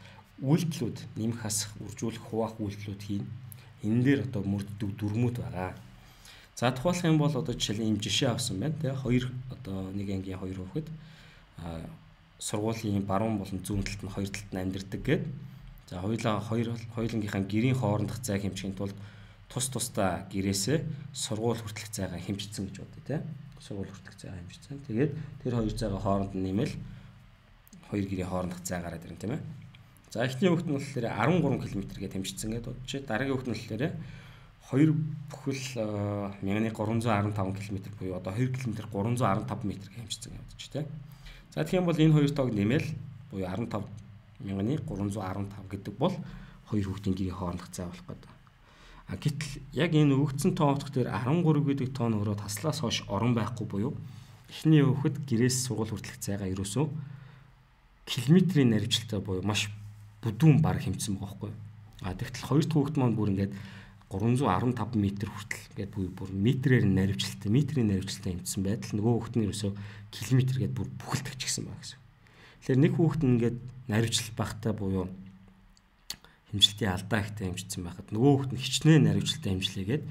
үйлдэлүүд нэмэх хасах, үржүүлэх, хуваах үйлдэлүүд хийн. Энэ дээр одоо мөрддөг дүрмүүд байгаа. За тухайлах юм бол одоо жишээ ийм жишээ авсан байна. Тэгээ хоёр одоо нэг ангийн хоёр хүүхэд а сургуулийн баруун болон зүүн талд нь хоёр талд нь амьдардаг гээд. За хоёулаа хоёр хоёулынгийнхаа гэрийн хоорондох зайг хэмжихийн тулд тус тусдаа гэрээсээ сургууль хүртэлх зайгаа хэмжигдсэн гэж бодъё те. Сургууль хүртэлх зайгаа хэмжигдсэн. Тэгээд тэр хоёр зайгаа хооронд нь нэмэл хоёр гэрийн хоорондох зай гараад ирнэ тийм ээ. За эхний хүүхэд нь болохоор арван гурван км гээд хэмжигдсэн гэдэг бодчих. Дараагийн хүүхэд нь болохоор хоёр бүхэл мянган гурван зуун арван таван км буюу одоо хоёр км гурван зуун арван таван метр гэж хэмжигдсэн гэж бодчих тийм. За тэгэх юм бол энэ хоёр тоог нэмэл буюу арван тав мянган гурван зуун арван тав гэдэг бол хоёр хүүхдийн гэрийн хоорондох зай болох гэдэг. А гэтэл яг энэ өгөгдсөн тоо утга дээр арван гурав гэдэг тоо нь өөрөө таслаас хойш орон байхгүй буюу эхний хүүхэд гэрээс сургууль хүртэлх зайгаа ерөөсөө километрийн наривчлалтай буюу маш бүдүүн баг хэмжсэн байгаа байхгүй. А тэгтэл хоёр дахь хүүхэд маань бүр ингээд гурван зуун арван таван метр хүртэл ингээд бүр бүр метрээр наривчлалтай метрийн наривчлалтай хэмжсэн байдал нөгөө хүүхэд нь ерөөсөө километр гээд бүр бүхэлдэж гисэн байгаа гэсэн. Тэгэхээр нэг хүүхэд нь ингээд наривчлал багтай буюу хэмжилтийн алдаа ихтэй хэмжигдсэн байхад нөгөө хүүхэд нь хичнээн наривчлалтай хэмжлээгээд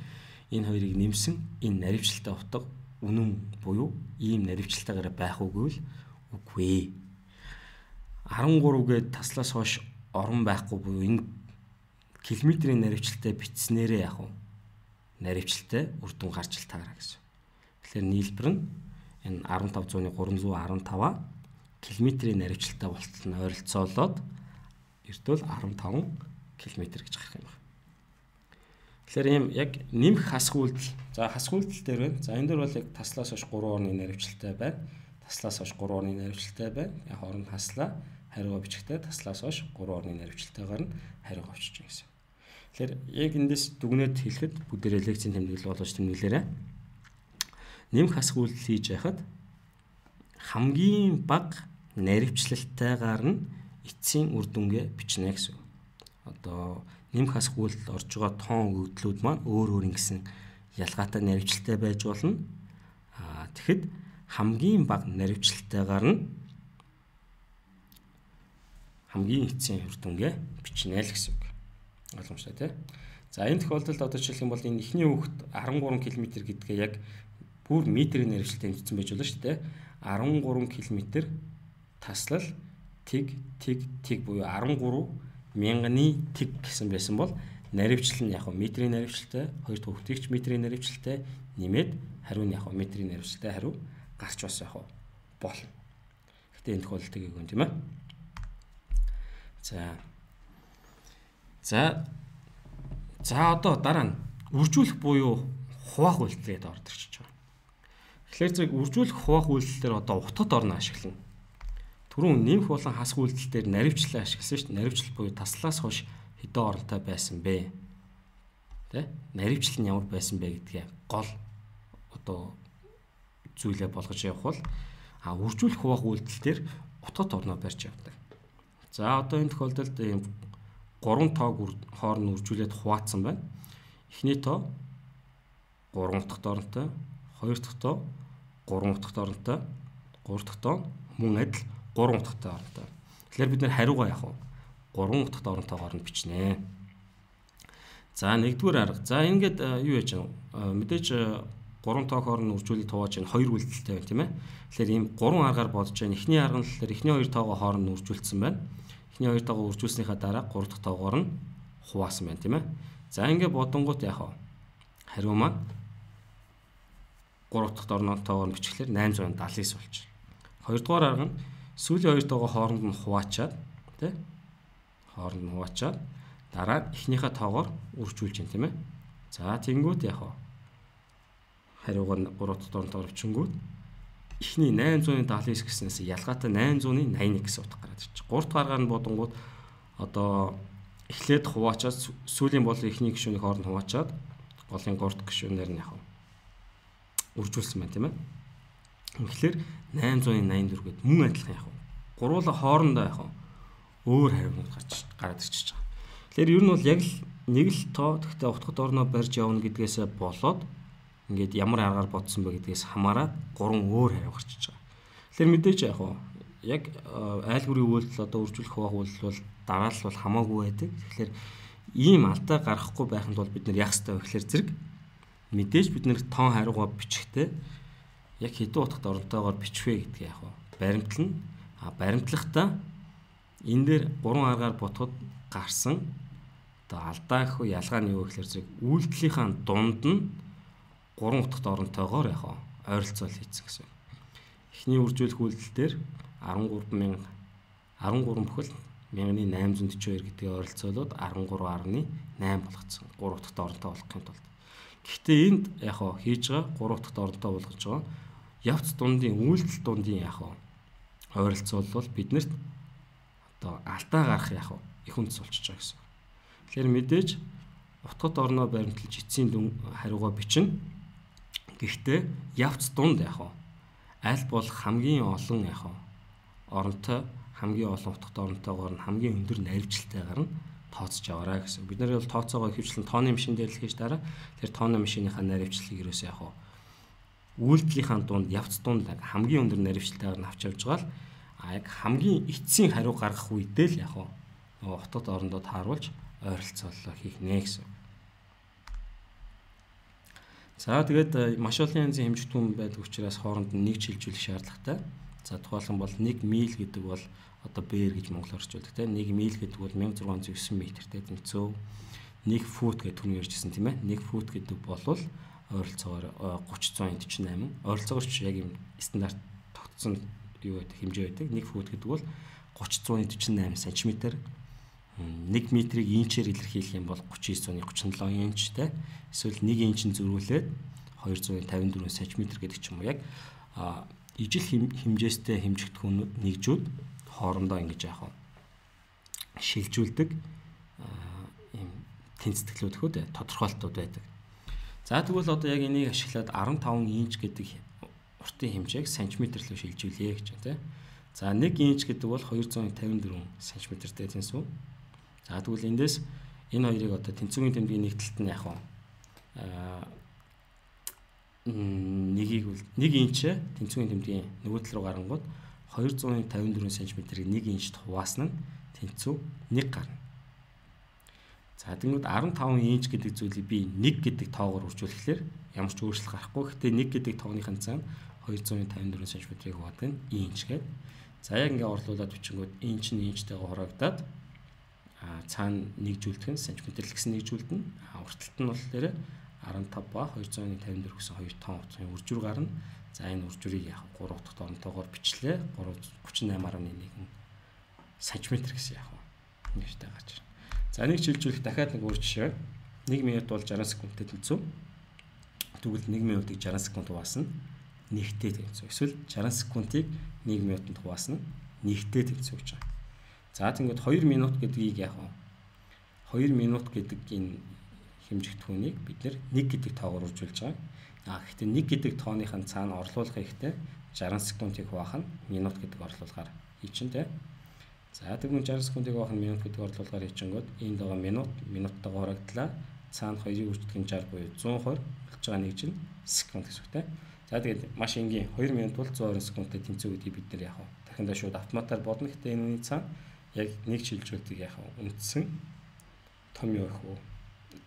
энэ хоёрыг нэмсэн энэ наривчлалтай утга үнэн буюу ийм наривчлалтайгаар байх үгүй л үгүй. арван гурав гээд таслаас хойш орон байхгүй буюу энэ километрийн наривчлалтай бичснээрээ яг уу наривчлалтай үр дүн гарч ил таараа гэсэн. Тэгэхээр нийлбэр нь энэ арван тав зууны гурван зуун арван таваа километрийн наривчлалтай болтол нь ойролцоолоод эртвэл арван таван километр гэж гарах юм байна. Тэгэхээр ийм яг нэмэх хасах үйлдэл. За хасах үйлдэл дээр байна. За энэ дээр бол яг таслаас хойш гурван орны наривчлалтай байна. Таслаас хойш гурван орны наривчлалтай байна. Яг хооронд хаслаа хариугаа бичгтээ таслаас хойш гурван орны наривчлалтайгаар нь хариугаа бичиж байгаа гэсэн. Тэгэхээр яг эндээс дүгнээд хэлэхэд бүгдээрээ лекцийн тэмдэглэл болгож тэмдэглээрэй. нэмэх хасах үйлдэл хийж байхад хамгийн бага наривчлалтайгаар нь эцсийн үр дүнгээ бичнэ гэсэн. Одоо нэмэх хасах үйлдэл орж байгаа тоон өгөгдлүүд маань өөр өөр ингэсэн ялгаатай наривчлалтай байж болно. Аа тэгэхэд хамгийн бага наривчлалтайгаар нь хамгийн эцсийн үр дүнгээ бичнэ л гэсэн үг. Ойлгомжтой тий. За энэ тохиолдолд одоо жишээлх юм бол энэ эхний хүүхэд арван гурван км гэдгээ яг бүр метрийн наривчлалтай тэмцсэн байж болно шүү дээ. арван гурван км таслал тэг тэг тэг буюу арван гурван мянганы тэг гэсэн байсан бол наривчлал нь яг метрийн наривчлалтай, хоёр дахь хүүхдийгч метрийн наривчлалтай нэмээд хариу нь яг метрийн наривчлалтай хариу гарч бас яг болно. Гэтэ энэ тохиолдолд тгийг юм тийм ээ. За. За. За одоо дараа нь үржүүлэх буюу хуваах үйлдэлээд орж ирж байгаа. Тэгэхээр зэрэг үржүүлэх хуваах үйлдэлээр одоо утгад орно ашиглана. Түрүүн нэмэх болон хасах үйлдэлээр наривчлал ашигласан шүү дээ. Наривчлал буюу таслаас хойш хэдэн оронтой байсан бэ? Тэ? Наривчлал нь ямар байсан бэ гэдгээ гол одоо зүйлээ болгож явах бол а үржүүлэх хуваах үйлдэлээр утгад орноо барьж явдаг. За одоо энэ тохиолдолд ийм гурван тоог хооронд үржүүлээд хуваацсан байна. Эхний тоо гурван утгад оронтой, хоёр дахь тоо гурван утгад оронтой, гурав дахь тоо мөн адил гурван утгатай оронтой. Тэгэхээр бид нэр хариугаа яах вэ? гурван утгад ороntойгоор нь бичнэ. За нэгдүгээр арга. За ингээд юу яаж аа мэдээж гурван тоог хооронд үржүүлэлт хувааж энэ хоёр үйлдэлтэй байна тийм ээ. Тэгэхээр ийм гурван аргаар бодож байна. Эхний арга нь болохоор эхний хоёр тоогоо хооронд үржүүлсэн байна. Эхний хоёр тоогоо үржүүлснийхаа дараа гурав дахь тоогоор нь хуваасан байна тийм ээ. За ингээд бодонгууд яах вэ? Хариу маань гурав дахь орнотойгоор нь бичихлээр найман зуун даалгавар болчих. Хоёрдугаар арга нь сүүлийн хоёр тоогоо хооронд нь хуваачаад тий хооронд нь хуваачаад дараа эхнийхээ тоогоор үржүүлж байна тийм ээ. За тэнгүүд яах вэ? Хариуг нь гурав дахь орнотойгоор бичингүүд эхний найман зуун даалгавар гэснээс ялгаатай найман зуун няд нэг гэсэн утга гараад ирчих. гурав дахь аргаар нь бодонгууд одоо эхлээд хуваачаад сүүлийн бол эхний гишүүний хооронд хуваачаад голын гурав дахь гишүүнээр нь яах вэ? Үржүүлсэн байна тийм ээ. Тэгэхээр найман зуун найман дөрөв гээд мөн адилхан яах вэ? Гурвуулаа хоорондоо яах вэ? Өөр хариунууд гарч гараад ирчихэж байгаа. Тэгэхээр ер нь бол яг л нэг л тоо тэгтээ утгад орноо барьж явна гэдгээсээ болоод ингээд ямар аргаар бодсон бэ гэдгээс хамаарат гурван өөр хариу гарч иж байгаа. Тэгэхээр мэдээж яах вэ? Яг айлгүрийн үйлдэл одоо үржүүлэх хуваах үйлдэл бол дараалал бол хамаагүй байдаг. Тэгэхээр ийм алдаа гаргахгүй байханд бол бид нар яах ёстой вэ гэхээр зэрэг мэдээж бид нэр тоон хариугаа бичихтэй яг хэдэн утгад оронтойгоор бичвэ гэдгийг яах вэ? Баримтлна. А баримтлахдаа энэ дээр гурван аргаар бодоход гарсан одоо алдаа гэх үү ялгаа нь юу гэхээр зэрэг үйлдэлийнхаа дунд нь гурван утгад оронтойгоор яах вэ? Ойролцоол хийцэн гэсэн. Эхний үржүүлэх үйлдэл дээр арван гурван мянга арван гурван бүхэл мянганы найман зуун дөчөө хоёр гэдгийг ойролцоолоод арван гурван арваны найман болгоцсон. гурван утгад оронтой болгохын тулд. Гэхдээ энд яг хаа хийж байгаа гурван дахь оронтой болгож байгаа явц дундын үйлдэл дундын яг хаа ойролцоол биднэрт одоо алдаа гарах яг хаа их үндэс болчихж байгаа гэсэн. Тэгэхээр мэдээж утгад орноо баримталж эцсийн дүн хариугаа бичнэ. Гэхдээ явц дунд яг хаа аль бол хамгийн олон яг хаа оронтой хамгийн олон утгад оронтойгоор нь хамгийн өндөр наривчлалтайгаар нь тооцож аваарай гэсэн. Бид нар бол тооцоогоо ихэвчлэн тооны машин дээр л хийж дараа. Тэр тооны машиныхаа наривчлалыг ерөөсөө яг хаа үйлдэлийнхаа дунд явц дунд хамгийн өндөр наривчлалтайгаар нь авч явж байгаа л а яг хамгийн эцсийн хариу гаргах үедээ л яг хаа утгад орондоо тааруулж ойролцоолоо хийх нэ гэсэн. За тэгээд маш олон янзын хэмжигдүүн байдаг учраас хооронд нь нэг шилжүүлэх шаардлагатай. За тухайлбал бол нэг миль гэдэг бол одоо бээр гэж монголоор орчуулдаг тийм нэг миль гэдэг бол мянга зургаан зуун есөн метртэй тэнцүү. нэг фут гэдэг түн ярьжсэн тийм ээ. нэг фут гэдэг бол ойролцоогоор гуч зуун эдж найман. Ойролцоогоор ч яг юм стандарт тогтсон юу байдаг хэмжээ байдаг. нэг фут гэдэг бол гуч зуун эдж найман сантиметр. нэг метрийг инчээр илэрхийлэх юм бол гучин девять гучин седем инчтэй. Эсвэл нэг инчин зөрүүлээд двести пятьдесят четыре сантиметр гэдэг ч юм уу яг ижил хэмжээстэй хэмжигдэхүүнүүд нэгжүүд хоорондоо ингэж яах вэ? Шилжүүлдэг ийм тэнцэтгэлүүд хөө тодорхойлтууд байдаг. За тэгвэл одоо яг энийг ашиглаад арван таван инч гэдэг уртын хэмжээг сантиметр руу шилжүүлье гэж байна, тийм. За нэг инч гэдэг бол двести пятьдесят четыре сантиметртэй тэнцүү. За тэгвэл эндээс энэ хоёрыг одоо тэнцвийн тэмдгийн нэг талд нь яг аа нэгийг бол нэг инч тэнцвийн тэмдгийн нөгөө тал руу гарангууд двести пятьдесят четыре сантиметрийг нэг инчт хуваасна нь тэнцүү нэг гарна. За тэгвэл арван таван инч гэдэг зүйлийг би нэг гэдэг тоогоор үржүүлэхлээр ямар ч өөрчлөлт гарахгүй. Гэхдээ нэг гэдэг тоогныхын цаана двести пятьдесят четыре сантиметрийг хуваадаг нь инч гэдэг. За яг ингээ орлуулад бичингүүд инч нь инчтэйгээ хуваагдаад а цаана нэгжүүлдэг нь сантиметр л гэсэн нэгжүүлдэн. А уртталт нь болохоор арван тав ба двести пятьдесят четыре гэсэн хоёр том утгын үржүүр гарна. За энэ үржүүрийг яг гурав дахь оронтойгоор бичлээ. тридцать восемь гаруй нэг сантиметр гэсэн яг нэгтэй гарч ирнэ. За нэг шилжүүлэх дахиад нэг өөр жишээ. нэг минут бол шестьдесят секундтэй тэнцүү. Тэгвэл нэг минутыг шестьдесят секунд хуваасна нэгтэй тэнцүү. Эсвэл шестьдесят секундыг нэг минутанд хуваасна нэгтэй тэнцүү гэж байна. За тэгвэл two минут гэдгийг яг two минут гэдэг энэ хэмжигдэхүүнийг бид нэг гэдэг тоогоор үржүүлж байгаа. А гэхдээ нэг гэдэг тооныхын цаана орлуулах хэрэгтэй шестьдесят секундыг хуваах нь минут гэдэг орлуулгаар хийчихэнтэй. За тэгвэл шестьдесят секундыг хуваах нь минут гэдэг орлуулгаар хийчихэнгүүт энд байгаа минут минуттайгаа хурагдлаа. Цаана хоёрыг үржүүлэх жар буюу cent хоёр болж байгаа нэг чинь секунд гэсэн үгтэй. За тэгээд маш энгийн two минут бол one hundred секундтэй тэнцүү гэдгийг бид нар яг дахиндаа шууд автоматар бодно. Гэхдээ энэ үний цаана яг нэг шилжүүлтийг яг үндсэн том юу их үү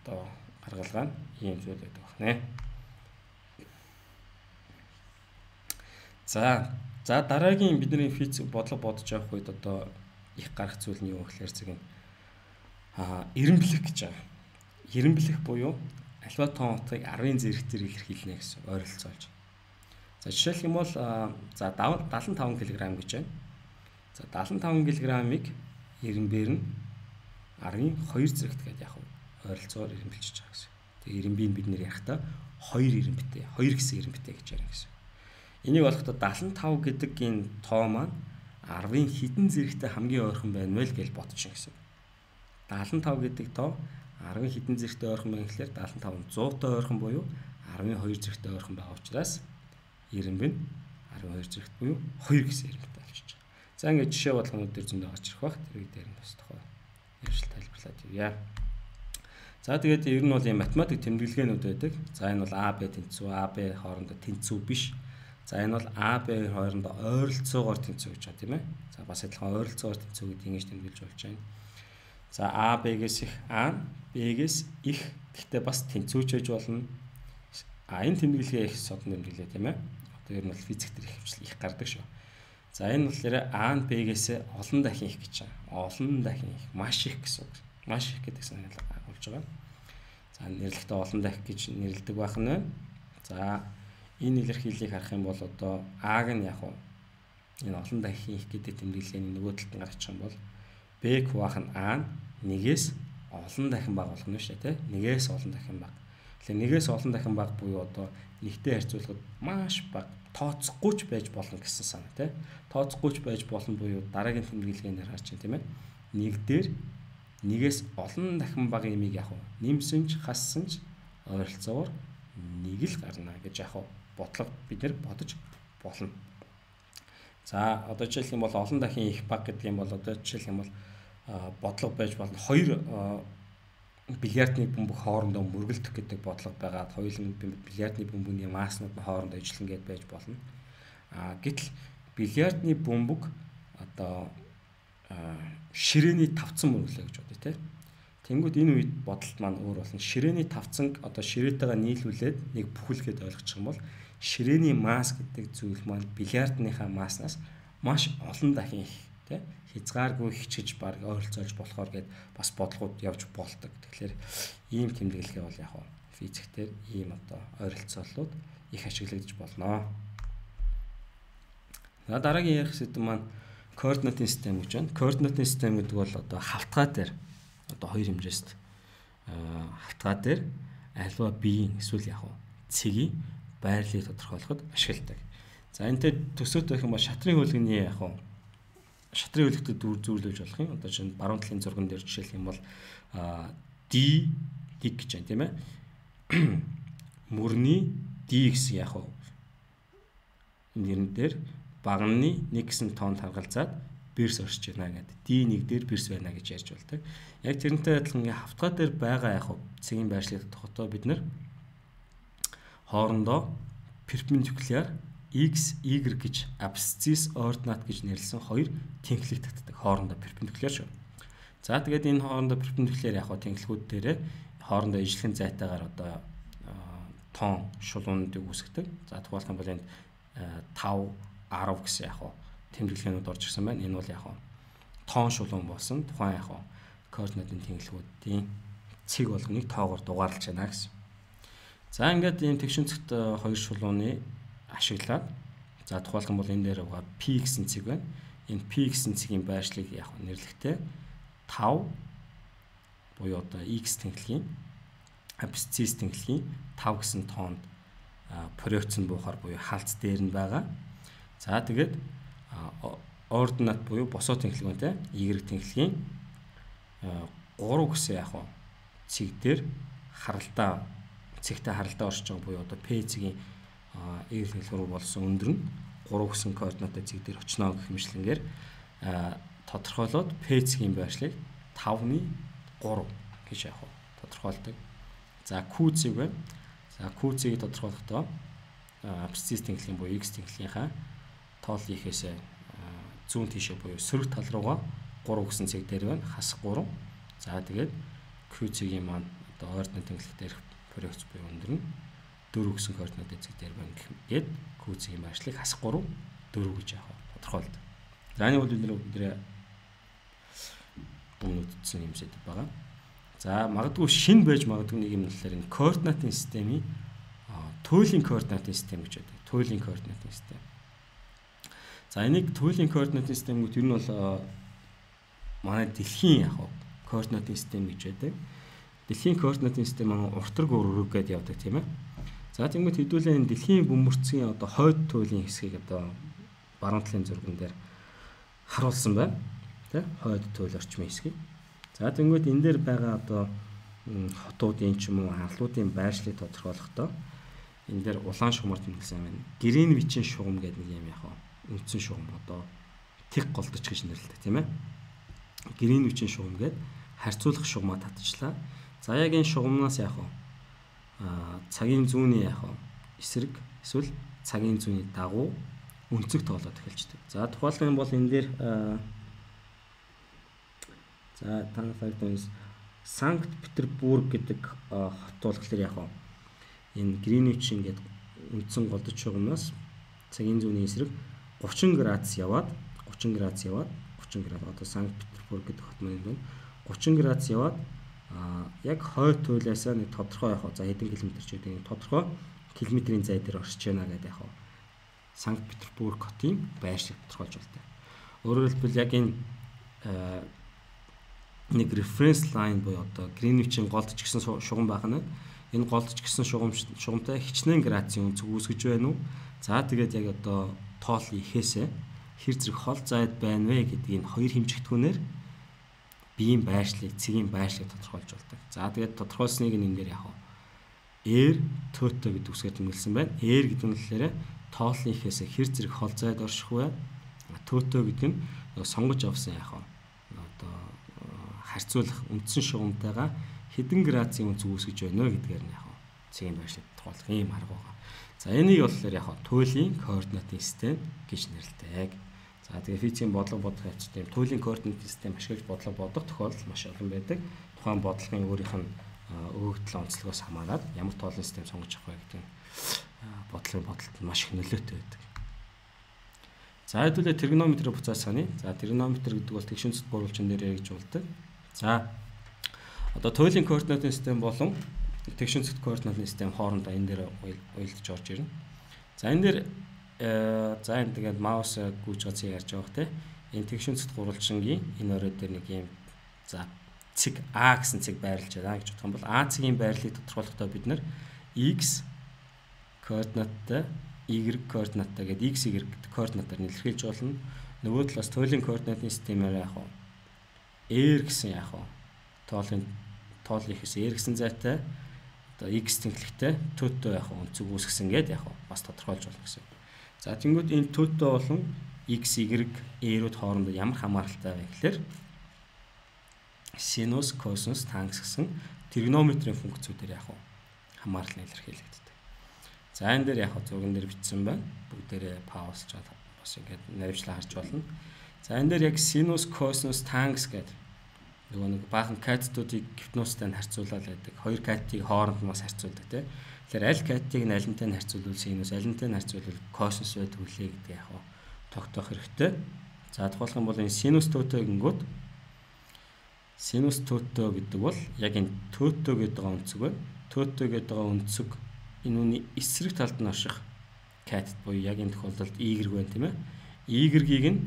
одоо гаргалгаа нь ийм зүйл байдаг байна. За за дараагийн бидний физик бодлого бодож явах үед одоо их гарах зүйл нь юу гэхээр зэрэг аа эренблэх гэж байгаа. Эренблэх буюу альва тоон утгыг арвын зэрэгтэр илэрхийлнэ гэсэн ойролцоолж. За жишээлх юм бол за seventy-five кг гэж байна. За seventy-five кг-ыг эренбээр нь арвын two зэрэгт гэдэг яг ойролцоогоор эренбэлж байгаа гэсэн. Тэгээ эренбийг бид нэр ярихтаа two эренбитэй, two гэсэн эренбитэй гэж ярина гэсэн. Энийг болохдоо seventy-five гэдэг энэ тоо маань арвын хідэн зэрэгтэй хамгийн ойрхон байна вэ гэж бодчих гэсэн. seventy-five гэдэг тоо арвын хідэн зэрэгтэй ойрхон байна гэхлээр seventy-five one hundred-тай ойрхон буюу арвын two зэрэгтэй ойрхон байгаа учраас эренб нь арвын two зэрэгт буюу two гэсэн эренбитэй болчихж байгаа. За ингээд жишээ болгонууд дээр зөндөө гарч ирэх бах. Тэрийг дээр нь бас тохоо ярьж тайлбарлаад явъя. За тэгээд ер нь бол ийм математик тэмдэглэгээнүүд байдаг. За энэ бол А Б тэнцүү, А Б хоорондоо тэнцүү биш. За энэ бол А Б хоорондоо ойролцоогоор тэнцүү гэж байна тийм ээ. За бас адилхан ойролцоогоор тэнцүү гэдгийг ингэж тэмдэглэж болж байна. За А Б-гээс их А, Б-гээс их гэхдээ бас тэнцүүч байж болно. А энэ тэмдэглэгээ их содон тэмдэглээ тийм ээ. Одоо ер нь бол физик дээр их хвчлэл их гардаг шүү. За энэ болохоор А нь Б-гээс олон дахин их гэж байна. Олон дахин их, маш их гэсэн үг. Маш их гэдэг санаал болж байгаа. За нэрлэхдээ олон дахин гэж нэрлэдэг байх нь байна. За энэ илэрхийллийг харах юм бол одоо А-г нь яг уу энэ олон дахин их гэдэг тэмдэглэлийн нөгөө талд нь гаргачих юм бол Б хуваах нь А нь нэгээс олон дахин бага болох нь шүү дээ, тийм. Нэгээс олон дахин бага. Тэгэхээр нэгээс олон дахин бага буюу одоо нэгтэй харьцуулахад маш бага, тооцохгүй ч байж болно гэсэн санаа, тийм. Тооцохгүй ч байж болно буюу дараагийн тэмдэглэгээр харж байна, тийм ээ. Нэг дээр нэгээс олон дахин бага юмыг яг уу нэмсэн ч хассан ч ойролцоогоор нэг л гарна гэж яг уу бодлого бид нэр бодож болно. За одоо жишээлх юм бол олон дахин их бага гэдэг юм бол одоо жишээлх юм бол бодлого байж болно. Хоёр бильярдны бөмбөг хоорондоо мөргөлдөх гэдэг бодлого байгаа. Хоёулын бильярдны бөмбөгийн масснууд нь хоорондоо ижилхэн гээд байж болно. А гэтэл бильярдны бөмбөг одоо ширээний тавцан мөргөлөө гэж бодъё те. Тэнгүүд энэ үед бодолт маань өөр болно. Ширээний тавцанг одоо ширээтэйгээ нийлүүлээд нэг бүхэлгээд ойлгочих юм бол ширээний масс гэдэг зүйл маань бильярдныхаа масснаас маш олон дахин их те хязгааргүй хичээж баг ойролцоолж болохоор гээд бас бодлогууд явж болдог. Тэгэхээр ийм тэмдэглэгээ бол яг нь физиктээр ийм одоо ойролцооллууд их ашиглагдаж болно. За дараагийн ярих сэдэв маань координатын систем гэж байна. Координатын систем гэдэг бол одоо хавтгай дээр одоо хоёр хэмжээст хавтгай дээр альва биеийн эсвэл яг нь цэгийн байрлалыг тодорхойлоход ашигладаг. За энэтэй төсөөтэй гэх юм бол шатрын хөлгөний яг нь шатрын хөлгөдөд зүйрлэж болох юм. Одоо чинь баруун талын зурган дээр жишээлх юм бол D dig гэж байна тийм ээ. мөрний D гэсэн яг уу нэрэн дээр багны нэг гэсэн тоонд харгалзаад бэрс оршиж байна гэдэг. D нэг дээр бэрс байна гэж ярьж болдог. Яг тэрнтэй адилхан ингээ хавтгай дээр байгаа яг уу цэгийн байршлыг тогтоо бид нар хоорондоо перпендикуляр x, y гэж абсцисс ординат гэж нэрлсэн хоёр тэнхлэг татдаг. Хоорондоо перпендикуляр шүү. За тэгээд энэ хоорондоо перпендикуляр яг тэнхлэгүүд дээрээ хоорондоо ижлэхэн зайтайгаар одоо тоон шулуунуудыг үүсгдэг. За тухайлх юм бол энд five, ten гэсэн яг тэмдэглэгээнүүд орж ирсэн байна. Энэ бол яг тоон шулуун болсон. Тухайн яг координатын тэнхлэгүүдийн цэг болгоныг тоогоор дугаарлаж байна гэсэн. За ингээд ийм тэгшинцэгт хоёр шулууны ашиглаад за тухайлх юм бол энэ дээр байгаа P гэсэн цэг байна. Энэ P гэсэн цэгийн байршлыг яг нэрлэхдээ five буюу одоо X тэнхлэгийн абсцисс тэнхлэгийн five гэсэн тоонд проекцн буухаар буюу халц дээр нь байгаа. За тэгээд ординат буюу босоо тэнхлэгтэй Y тэнхлэгийн three гэсэн яг цэг дээр харалтаа цэгтэй харалтаа оршиж байгаа буюу одоо P цэгийн Y тэнхлэг рүү болсон өндөр нь three гэсэн координаттай цэг дээр очно гэх мэтлэнгээр тодорхойлоод P цэгийн байршлыг five-ны three гэж яг тодорхойлдог. За Q цэг байна. За Q цэгийг тодорхойлохдоо абсцисс тэнхлэгийн буюу X тэнхлэгийнхаа тоол ихээсээ зүүн тийшээ буюу сөрөг тал руугаа three гэсэн цэг дээр байна. Хасах three. За тэгээд Q цэгийн маань одоо ординат тэнхлэг дээр проекц буюу өндөр нь four гэсэн координаттай цэг дээр байна гэхэд Q цэгийн байршлыг хасах three four гэж яг тодорхойлдог. За энэ бол бид нэр өмнөд утсан юм сэдв байгаа. За магадгүй шин байж магадгүй нэг юм болохоор энэ координатын системийн туйлын координатын систем гэж байдаг. Туйлын координатын систем. За энийг туйлын координатын системүүд ер нь бол манай дэлхийн яг координатын систем гэж байдаг. Дэлхийн координатын систем маань уртраг өргөг гэдээ явдаг тийм ээ. За тэгмэд хэдүүлээ энэ дэлхийн бөмбөрцгийн одоо хойд туйлын хэсгийг одоо баруун талын зурган дээр харуулсан байна. Тэ хойд туйл орчмын хэсгийг. За тэгмэд энэ дээр байгаа одоо хотуудын ч юм уу харлуудын байршлыг тодорхойлохдоо энэ дээр улаан шугамар тэмдэглэсэн байна. Гринвичийн шугам гэдэг нэг юм яг үндсэн шугам одоо тэг голдож гэж нэрлэдэг тийм ээ. Гринвичийн шугам гэдэг харьцуулах шугамаа татчихлаа. За яг энэ шугамнаас яг аа цагийн зүүнний яг эсрэг эсвэл цагийн зүүнний дагуу өнцөг тоолоод эхэлждэг. За тухайлбал юм бол энэ дээр за танаас Санкт Петербург гэдэг хот болохоор яг энэ Гринвич ингээд үндсэн голдож шугамнаас цагийн зүүнний эсрэг thirty градус яваад thirty градус яваад thirty градус одоо Санкт Петербург гэдэг хот маань байна. thirty градус яваад а яг хойд туйлаасаа нэг тодорхой яг за хэдэн километр ч гэдэг тодорхой километрийн зай дээр оршиж байна гэдэг яг Санкт Петербург хотын байршлыг тодорхойлж байна. Өөрөөр хэлбэл яг энэ нэг reference line буюу одоо Гринвичийн голдож гисэн шугам байх нь энэ голдож гисэн шугам шугамтай хичнээн градусын өнцөг үүсгэж байна уу? За тэгээд яг одоо тоол ихээсээ хэр зэрэг хол зайд байна вэ гэдэг энэ хоёр хэмжигдэхүүнээр биеийн байршлыг, цэгийн байршлыг тодорхойлж болдог. За тэгээд тодорхойлсныг энэ дээр яг R тото гэдэг үсгээр тэмдэглэсэн байна. R гэдэг нь болохоор тоолны ихээсээ хэр зэрэг хол зайд орших вэ? Тото гэдэг нь сонгож авсан яг одоо харьцуулах үндсэн шугамтайгаа хэдэн градусын өнцөг үүсгэж байна вэ гэдгээр нь яг цэгийн байршлыг тодорхойлох ийм арга байгаа. За энийг болохоор яг туйлын координатын систем гэж нэрлэдэг. За тэгээ физикийн бодлого бодох явц тийм туйлын координатын систем ашиглаж бодлого бодох тохиолдол маш олон байдаг. Тухайн бодлогын өөрийнх нь өгөгдөл онцлогоос хамаарат ямар тоолын систем сонгож авах вэ гэдэг нь бодлогын бодолд маш их нөлөөтэй байдаг. За хэдүүлээ тригонометрийн буцаа саны. За тригонометр гэдэг бол тэгшин цэцэд буруулчин дээр яригдж болдог. За одоо туйлын координатын систем болон тэгшин цэцэд координатын систем хоорондоо энэ дээр уялдаж орж ирнэ. За энэ дээр за энэ тэгээд маус гүйж гацыг ярьж байгаа те. Энэ тэгшин цэцэд буруулчингийн энэ орой дээр нэг юм за цэг А гэсэн цэг байрлаж байгаа гэж бодох юм бол А цэгийн байрлалыг тодорхойлохдоо бид нар X координаттай Y координаттай гэдэг X Y координатаар нэлэхэлж болно. Нөгөө талаас туйлын координатын системээр яг R гэсэн яг тоолын тоол ихээс R гэсэн зайтай одоо x тэнхлэгтэй төтөө яг өнцөг үүсгэсэн гэдээ яг бас тодорхойлж болно гэсэн. За тэнгууд энэ төтөө болон x, y, a-рууд хоорондоо ямар хамааралтай вэ гэхээр синус, косинус, тангенс гэсэн тригонометрийн функцүүдээр яг хамаарлал нь илэрхийлэгддэг. За энэ дээр яг зурган дээр бичсэн байна. Бүгдээрээ паузлж бас ингээд наривчлаа харж болно. За энэ дээр яг синус, косинус, тангенс гэдэг нөгөө нэг баахан катетуудыг гипностай нь харьцуулаад байдаг. Хоёр катетыг хооронд нь бас харьцуулдаг тийм. Тэгэхээр аль катетыг нь алинтай нь харьцуулвал синус, алинтай нь харьцуулвал косинус байдаг үлээ гэдэг яг тогтоох хэрэгтэй. За тухайлх юм бол энэ синус төтөө гингүүд синус төтөө гэдэг бол яг энэ төтөө гэдэг өнцөг байна. Төтөө гэдэг өнцөг энэ үний эсрэг талд нь орших катет буюу яг энэ тохиолдолд y байна тийм ээ. Y-ийг нь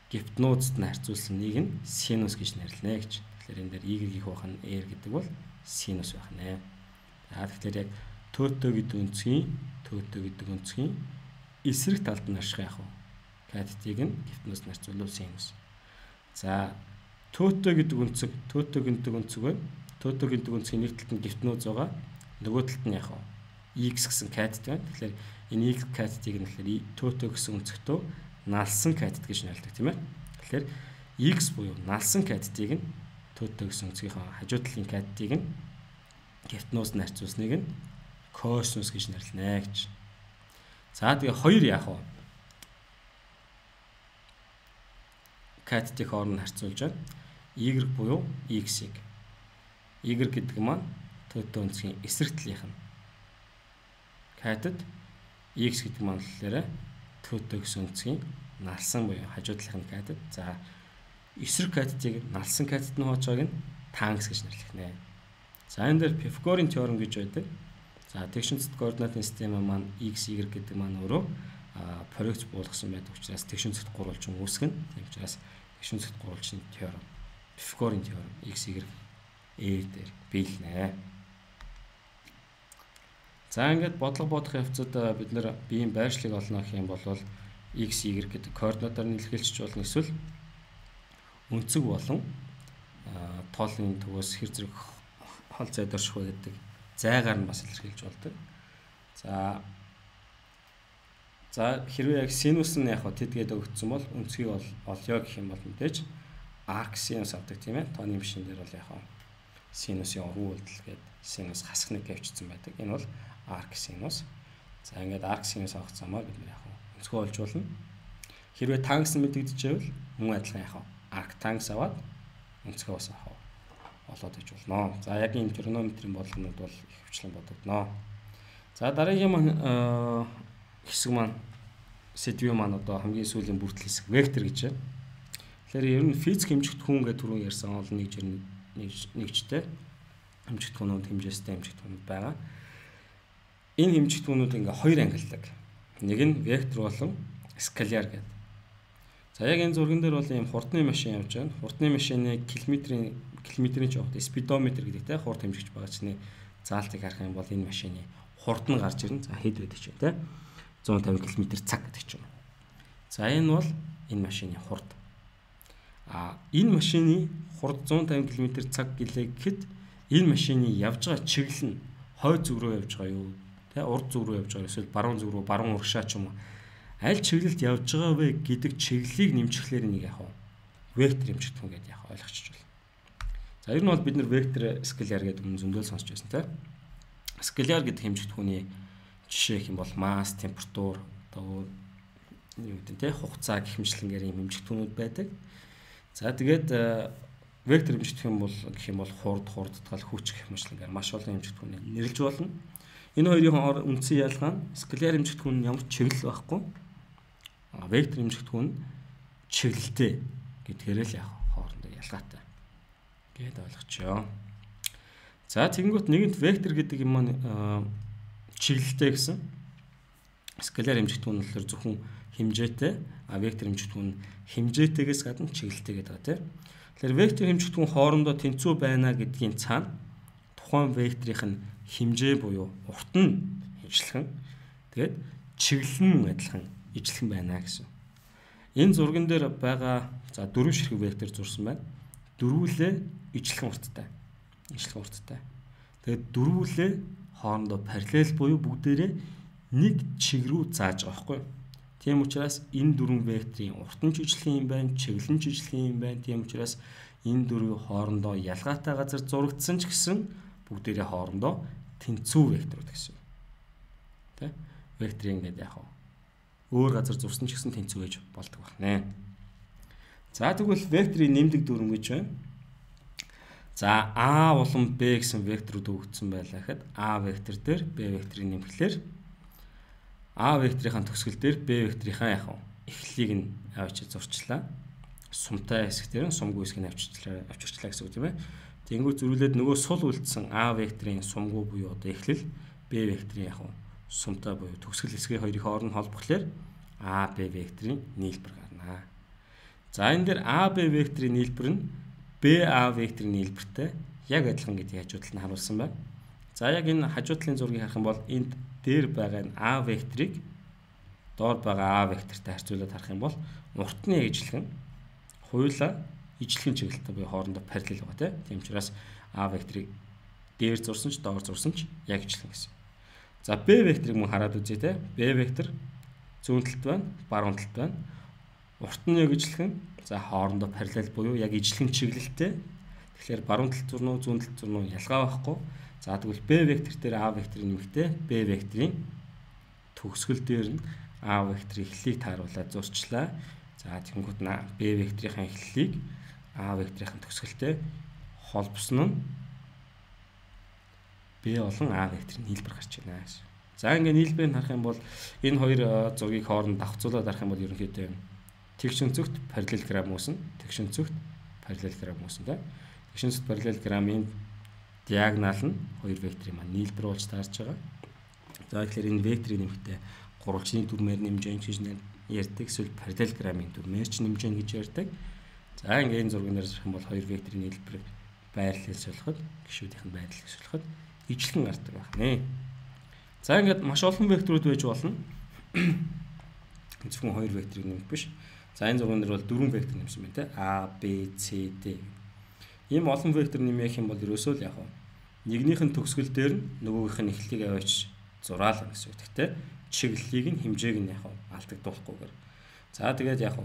гипнозд нь харьцуулсан нэг нь синус гэж нэрлэнэ гэж. Тэгэхээр энэ дээр y-ийг байх нь r гэдэг бол синус байх нэ. За тэгэхээр яг төтөө гэдэг өнцгийн төтөө гэдэг өнцгийн эсрэг талд нь орших яг катетыг нь гипнозд нь харьцуулвал синус. За төтөө гэдэг өнцөг төтөө гэдэг өнцөг байна. Төтөө гэдэг өнцгийн нэг талд нь гипноз байгаа. Нөгөө талд нь яг x гэсэн катет байна. Тэгэхээр энэ x катетыг нь тэгэхээр төтөө гэсэн өнцөгтөө налсан катет гэж нэрлэдэг тийм ээ. Тэгэхээр x буюу налсан катетыг нь төтөө гэсэн өнцгийн хажуу талын катетыг нь гипнозд нь харьцуулсныг нь косинус гэж нэрлэнэ гэж. За тэгээ хоёр яах вэ? Катетийг хооронд харьцуулж байна. Y буюу x-ийг. Y гэдэг маань төтөө өнцгийн эсрэг талынх нь катет, x гэдэг маань болохоор төтөө гэсэн өнцгийн налсан буюу хажуу талынх нь катет. За эсрэг катетыг налсан катет нь хуучааг нь тангенс гэж нэрлэх нэ. За энэ дээр Пифагорын теорем гэж байдаг. За тэгшинцэд координатын систем маань x, y гэдэг маань өөрөө проекц буулгасан байдаг учраас тэгшинцэд гурвалжин үүсгэн. Тийм учраас тэгшинцэд гурвалжин теорем Пифагорын теорем x, y, a дээр биелнэ. За ингээд бодлого бодох явцад бид нэр биеийн байршлыг олно гэх юм бол x, y гэдэг координатаар нь илэрхийлчих болно. Эсвэл өнцөг болон тоолын төвөөс хэр зэрэг хол зайд орших вэ гэдэг зайгаар нь бас илэрхийлж болдог. За за хэрвээ яг синус нь яг тэдгээд өгсөн бол өнцгийг бол олё гэх юм бол мэдээж арк синус авдаг тийм ээ. Тооны машин дээр бол яг синусын уран үйлдэл гээд синус хасах нэг авчирсан байдаг. Энэ бол арк синус. За ингээд арк синус авах замаар бид яг өнцгөө олж болно. Хэрвээ тангенс нь мэдэгдэжээвэл мөн адилхан яг арк тангенс аваад өнцгөө бас авах олоод иж болно. За яг энэ тригонометрийн бодлогонууд бол их хвчлэн бодогдно. За дараагийн маань хэсэг маань сэдвийн маань одоо хамгийн сүүлийн бүртгэл хэсэг вектор гэж байна. Тэгэхээр ер нь физик хэмжигдэхүүн гэдэг түрүүн ярьсан олон нэг жир нэгжтэй хэмжигдэхүүнүүд хэмжээстэй хэмжигдэхүүнүүд байгаа. Энэ хэмжигдэхүүнүүд ингээ хоёр ангилдаг. Нэг нь вектор болон скаляр гэдэг. За яг энэ зурган дээр бол ийм хурдны машин явж байна. Хурдны машины километрийн километрийн жоохот спидометр гэдэг те хурд хэмжигч байгаа чинь заалтыг харах юм бол энэ машины хурд нь гарч ирнэ. За хэд байдаг ч юм те зуун тавин км цаг гэдэг ч юм. За энэ бол энэ машины хурд. А энэ машины хурд зуун тавин км цаг гэлээ гэхэд энэ машины явж байгаа чиглэл нь хойд зүг рүү явж байгаа юу те урд зүг рүү явж байгаа эсвэл баруун зүг рүү баруун урагшаа ч юм уу аль чиглэлд явж байгаа вэ гэдэг чиглэлийг нэмчихлээр нэг яг вектор хэмжигдэхүүн гэдээ яг ойлгочих жол. За ер нь бол бид нар вектор скаляр гэдэг юм зөндөл сонсч байсан те. Скаляр гэдэг хэмжигдэхүүний жишээ хэм бол масс, температур, одоо юу гэдэг те хугацаа гэх мэтлэнгээр юм хэмжигдэхүүнүүд байдаг. За тэгээд вектор хэмжигдэхүүн бол гэх юм бол хурд, хурдтгал, хүч гэх мэтлэнгээр маш олон хэмжигдэхүүнийг нэрлэж болно. Энэ хоёрын үндсэн ялгаа нь скаляр хэмжигдэхүүн нь ямар чиглэл байхгүй. А вектор хэмжигдэхүүн чиглэлтэй гэдгээр л яг хоорондоо ялгаатай гэд ойлгочихё. За тэгэнгүүт нэгэнт вектор гэдэг юм маань чиглэлтэй гэсэн. Скаляр хэмжигдэхүүн нь болохоор зөвхөн хэмжээтэй, а вектор хэмжигдэхүүн нь хэмжээтэйгээс гадна чиглэлтэй гэдэг байгаа тийм. Тэгэхээр вектор хэмжигдэхүүн хоорондоо тэнцүү байна гэдгийн цаана тухайн векторын нь хэмжээ буюу урт нь ижилхэн тэгээд чиглэл нь адилхан ижилхэн байна гэсэн. Энэ зурган дээр байгаа за дөрвөн ширхэг вектор зурсан байна. Дөрвөлээ ижилхэн урттай. Ижилхэн урттай. Тэгээд дөрвөлээ хоорондоо параллел буюу бүгдээрээ нэг чиг рүү зааж байгаа байхгүй. Тийм учраас энэ дөрвөн векторын урт нь жижигхэн юм байна, чиглэл нь жижигхэн юм байна. Тийм учраас энэ дөрвийн хоорондоо ялгаатай газар зурагдсан ч гэсэн бүгдээрээ хоорондоо тэнцүү векторууд гэсэн. Тэ? Векторын гэдэг яг өөр газар зурсан ч гэсэн тэнцүү гэж болдог байна. За тэгвэл векторын нэмдэг дүрм гэж байна. За А улам Б гэсэн векторууд өгөгдсөн байлаа гэхэд А вектор дээр Б векторыг нэмэхлээр А векторын төгсгөл дээр Б векторынхаа яг эхлэлийг нь авчиж зурчлаа. Сумтай хэсэг дээр нь сумгүй хэсгийг авчирчлаа авчирчлаа гэсэн үг тийм ээ. Тэнгүү зөрүүлээд нөгөө сул үлдсэн А векторын сумгүй буюу одоо эхлэл Б векторын яг сумтай буюу төгсгөл хэсгийн хоёрын хооронд холбохлоор А Б векторын нийлбэр гарна. За энэ дээр А Б векторын нийлбэр нь Б А векторын нийлбэртэй яг адилхан гэдгийг хажуудлыг нь харуулсан байна. За яг энэ хажуудлын зургийг харах юм бол энд дээр байгаа энэ А векторыг доор байгаа А вектортай харьцуулаад харах юм бол уртны ижлэгэн хоёулаа ижлэгэн чиглэлтэй буюу хоорондоо параллел байгаа тийм учраас А векторыг дээр зурсан ч доор зурсан ч яг ижлэгэн гэсэн. За Б векторыг мөн хараад үзье те. Б вектор зүүн талд байна, баруун талд байна. Урт нь яг ижлэгэн, за хоорондоо параллел буюу яг ижлэгэн чиглэлтэй. Тэгэхээр баруун талд зурнуу, зүүн талд зурнуу ялгаа байхгүй. За тэгвэл Б вектор дээр А векторын нэмэгтэй Б векторын төгсгөл дээр нь А векторын эхлэлийг тааруулаад зурчлаа. За тэгэнгүүт нь Б векторын эхлэлийг А векторын төгсгөлтэй холбосон нь Б болон А векторын нийлбэр гарч байна гэсэн. За ингээд нийлбэрийг харах юм бол энэ хоёр зургийг хооронд давхцуулаад харах юм бол ерөнхийдөө тэгш өнцөгт параллелограмм үүснэ, тэгш өнцөгт параллелограмм үүснэ. Тэгш өнцөгт параллелограммын диагонал нь хоёр векторын маань нийлбэр болж таарч байгаа. За тэгэхээр энэ векторын нэмэгтэй гурвалжны дүрмээр нэмж гэн гэж ярьдаг, эсвэл параллелограммын дүрмээр ч нэмж гэн гэж ярьдаг. За ингээд энэ зургийн дээр харах юм бол хоёр векторын нийлбэрийг байрлалын солиход, гишүүдийн байрлалыг солиход ижлэгэн гардаг байна. За ингээд маш олон векторууд байж болно. Зөвхөн хоёр векторыг нэмэх биш. За энэ зургийн дээр бол дөрвөн вектор нэмсэн байна те. А, Б, С, Д. Ийм олон вектор нэмэх юм бол ерөөсөө л яг нэгнийх нь төгсгөл дээр нь нөгөөгийнх нь эхлэлийг аваач зураална гэсэн үг. Гэхдээ чиглэлийг нь хэмжээг нь яг алдагдуулахгүйгээр. За тэгээд яг